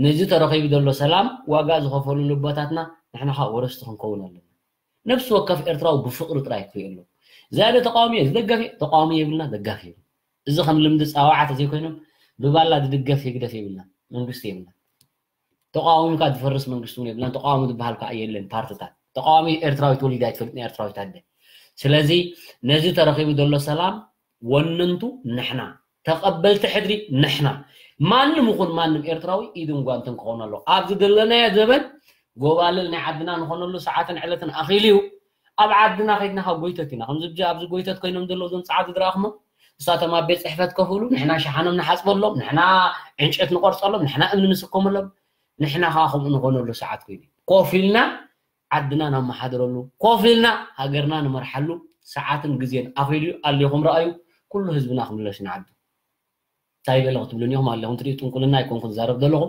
ነዚ ተረኺቡ ዘሎ ሰላም ዋጋ ዝኸፈሉ ልቦታትና ንሕና ከዓ ወረስቲ ክንከውን ኣለና። ነፍሲ ወከፍ ኤርትራዊ ብፍቕሪ ጥራይ ክሪኦ ኣሎ። ዝያደ ተቃዋሚ እየ፣ ዝደገፍ እየ፣ ተቃዋሚ የብልና፣ ደጋፊ የብልና። እዚ ከም ልምዲ ፃዋዓ ተዘይኮይኖም ብባላ ዝድገፍ ህግደፍ የብልና፣ መንግስቲ የብልና። ተቃዋሚካ ዝፈርስ መንግስቲ እውን የብልናን። ተቃዋሚ ዝበሃል ከዓ የለን። ፓርትታት ተቃዋሚ ኤርትራዊ ተወሊዳ ኣይትፈልጥ፣ ናይ ኤርትራዊት ኣደ። ስለዚ ነዚ ተረኺቡ ዘሎ ሰላም ወነንቱ ንሕና፣ ተቐበልቲ ሕድሪ ንሕና። ማንም ይኹን ማንም ኤርትራዊ ኢድን ጓንትን ክኾን ኣለዎ። ኣብዚ ዘለናዮ ዘበን ጎባልል ናይ ዓድና ንኾነሉ ሰዓትን ዕለትን ኣኺሉ እዩ። ኣብ ዓድና ከይድና ካብ ጎይተት ኢና። ከምዚ ብዚ ኣብዚ ጎይተት ኮይኖም ዘለዉ እዞም ጸዓዱ ዝረኣኹሞ፣ ንሳቶም ኣብ ቤት ጽሕፈት ኮፍ ኢሉ፣ ንሕና ሸሓኖም ንሓጽበሎም፣ ንሕና ዕንጨት ንቆርጸሎም፣ ንሕና እምኒ ንስከመሎም፣ ንሕና ከኣ ከምኡ ንኾነሉ ሰዓት ኮይኑ እዩ። ኮፍ ኢልና ዓድና ነመሓድረሉ፣ ኮፍ ኢልና ሃገርና ንመርሓሉ ሰዓትን ግዜን ኣኺሉ እዩ። ኣልኩም ረኣዩ፣ ኩሉ ህዝብና ክምለስ ንዓዱ። እንታይ በለ ክትብሉኒ ኢኹም ኣለኹም ትሪኡ፣ ጥንቁልና ኣይኮንኩን ዝዛረብ ዘለኹ።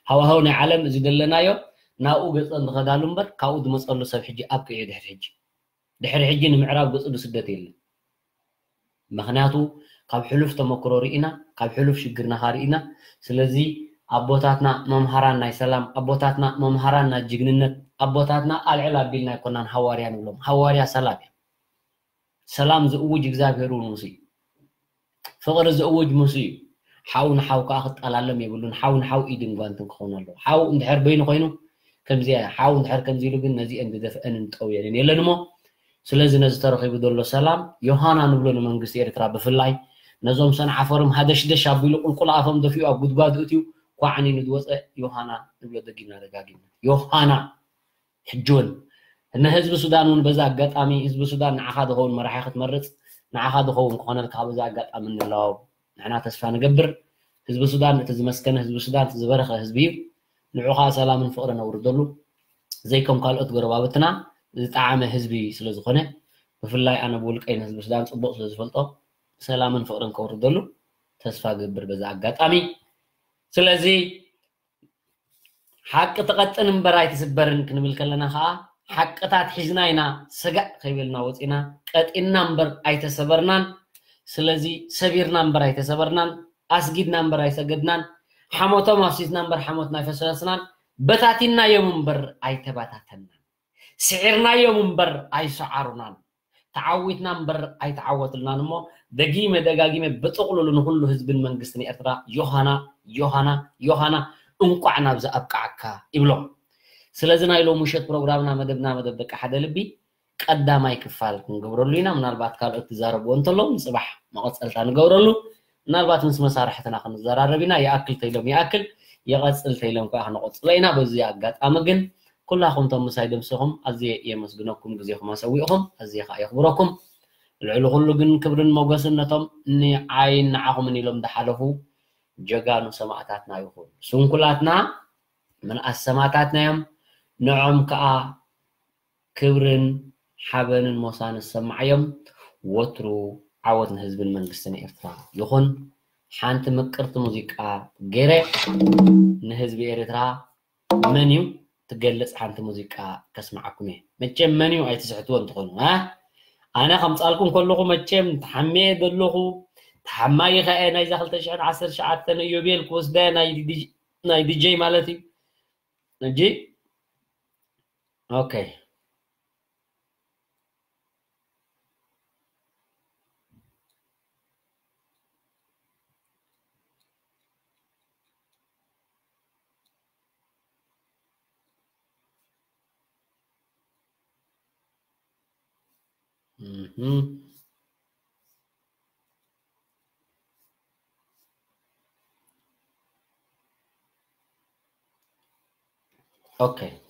ሃዋህው ናይ ዓለም እዚ ዘለናዮ ናብኡ ገጸን ዝኸዳሉ እምበር ካብኡ ዝመጸሉ ሰብ ሕጂ ኣብቂዑ እዩ። ድሕሪ ሕጂ፣ ድሕሪ ሕጂ ንምዕራብ ገጹ ዝስደት የለን። ምኽንያቱ ካብ ሕሉፍ ተመክሮ ርኢና፣ ካብ ሕሉፍ ሽግርና ርኢና። ስለዚ ኣቦታትና መምሃራን ናይ ሰላም፣ ኣቦታትና መምሃራን ናይ ጅግንነት፣ ኣቦታትና ኣልዕል ኣቢልና ኣይኮናን ሃዋርያ ንብሎም። ሃዋርያ ሰላም እዩ። ሰላም ዝእውጅ እግዚኣብሔር እውን ሙሴ እዩ። ፍቕሪ ዝእውጅ ሙሴ እዩ። ሓው ንሓው ከኣ ክጠላለም የብሉን። ሓው ንሓው ኢድን ጓንትን ክኸውን ኣለዎ። ሓው እንድሕር በይኑ ኮይኑ ከምዚ እያ። ሓው እንድሕር ከምዚ ኢሉ ግን ነዚአን ዝደፍአንን ጠውየንን የለን እሞ፣ ስለዚ ነዚ ተረኺቡ ዘሎ ሰላም ዮሃና ንብሎ ንመንግስቲ ኤርትራ ብፍላይ ነዞም ሰንዓፈሮም ሃደሽደሽ ኣቢሉ ቁልቁል ኣፎም ደፊኡ ኣብ ጉድጓድ እትዩ ኳዕኒኑ ዝወፀ ዮሃና ንብሎ ደጊምና ደጋጊምና። ዮሃና ሕጂ እውን ንህዝቢ ሱዳን እውን በዛ ኣጋጣሚ ህዝቢ ሱዳን ንዓኻ ዝኸውን መራሒ ክትመርፅ ንዓኻ ዝኸውን ክኾነልካ በዛ ኣጋጣሚ ንለዋው። ንሕና ተስፋ ንገብር። ህዝቢ ሱዳን እቲ ዝመስከነ ህዝቢ ሱዳን እቲ ዝበረኸ ህዝቢ እዩ። ንዑ ከዓ ሰላምን ፍቕርን ኣውርደሉ። ዘይከም ካልኦት ጎረባብትና ዝጠዓመ ህዝቢ ስለ ዝኾነ ብፍላይ ኣነ ብውልቀይ ንህዝቢ ሱዳን ፅቡቕ ስለ ዝፈልጦ ሰላምን ፍቕርን ከውርደሉ ተስፋ ገብር በዛ ኣጋጣሚ። ስለዚ ሓቂ ትቐጥን እምበር ኣይትስበርን ክንብል ከለና ከዓ ሓቅታት ሒዝና ኢና ሰጋእ ከይበልና ወፂና ቀጢንና እምበር ኣይተሰበርናን። ስለዚ ሰቢርና እምበር ኣይተሰበርናን፣ ኣስጊድና እምበር ኣይሰገድናን፣ ሓሞቶም ኣፍሲስና እምበር ሓሞትና ኣይፈሰስናን፣ በታቲናዮም እምበር ኣይተበታተናን፣ ስዒርናዮም እምበር ኣይሰዓሩናን። ተዓዊትና እምበር ኣይተዓወትልናን እሞ ደጊመ ደጋጊመ ብጥቕሉሉ ንኹሉ ህዝብን መንግስትን ኤርትራ ዮሃና ዮሃና ዮሃና እንቋዕ ናብዚ ኣብቅዓካ ይብሎም። ስለዚ ናይ ሎም ምሸት ፕሮግራምና መደብና መደብ ደቂ ሓደ ልቢ ቀዳማይ ክፋል ክንገብረሉ ኢና። ምናልባት ካልኦት ክዛረብዎ እንተለዉ ንፅባሕ መቐፀልታ ንገብረሉ። ምናልባት ምስ መሳርሕትና ክንዘራረብ ኢና። ይኣክል ተይሎም ይኣክል፣ ይቐፅል ተይሎም ከዓ ክንቐፅሎ ኢና። በዚ ኣጋጣሚ ግን ኩላኹም ቶም ምሳይ ደምሲኹም ኣዝየ የመስግነኩም፣ ግዜኹም ኣሰዊእኹም ኣዝየ ከዓ የኽብረኩም። ልዕሊ ኩሉ ግን ክብርን ሞገስን ነቶም ንዓይን ንዓኹምን ኢሎም ዝሓለፉ ጀጋኑ ሰማእታትና ይኹን። ስንኩላትና ምንኣስ ሰማእታትና እዮም። ንዖም ከዓ ክብርን ሓበንን ሞሳን ዝሰማዓዮም። ወትሩ ዓወት ንህዝብን መንግስትን ኤርትራ ይኹን። ሓንቲ ምቅርቲ ሙዚቃ ገይረ ንህዝቢ ኤርትራ መን እዩ ትገልጽ ሓንቲ ሙዚቃ ከስምዓኩም እየ። መቸም መን እዩ ኣይትስሕትዎ እንትኾኑ፣ እ? ኣነ ከምጻልኩም ከለኹ መቸም ተሓምየ ዘለኹ፣ ተሓማይ ኸኣ ናይዛ ክልተ ሽሕን ዓሰርተ ትሽዓተን ኢዮቤል ክወስዳ ናይ ዲጅ-፣ ናይ ዲጀይ ማለት እዩ። እንጂ፣ ኦኬ። Mhm. Okay.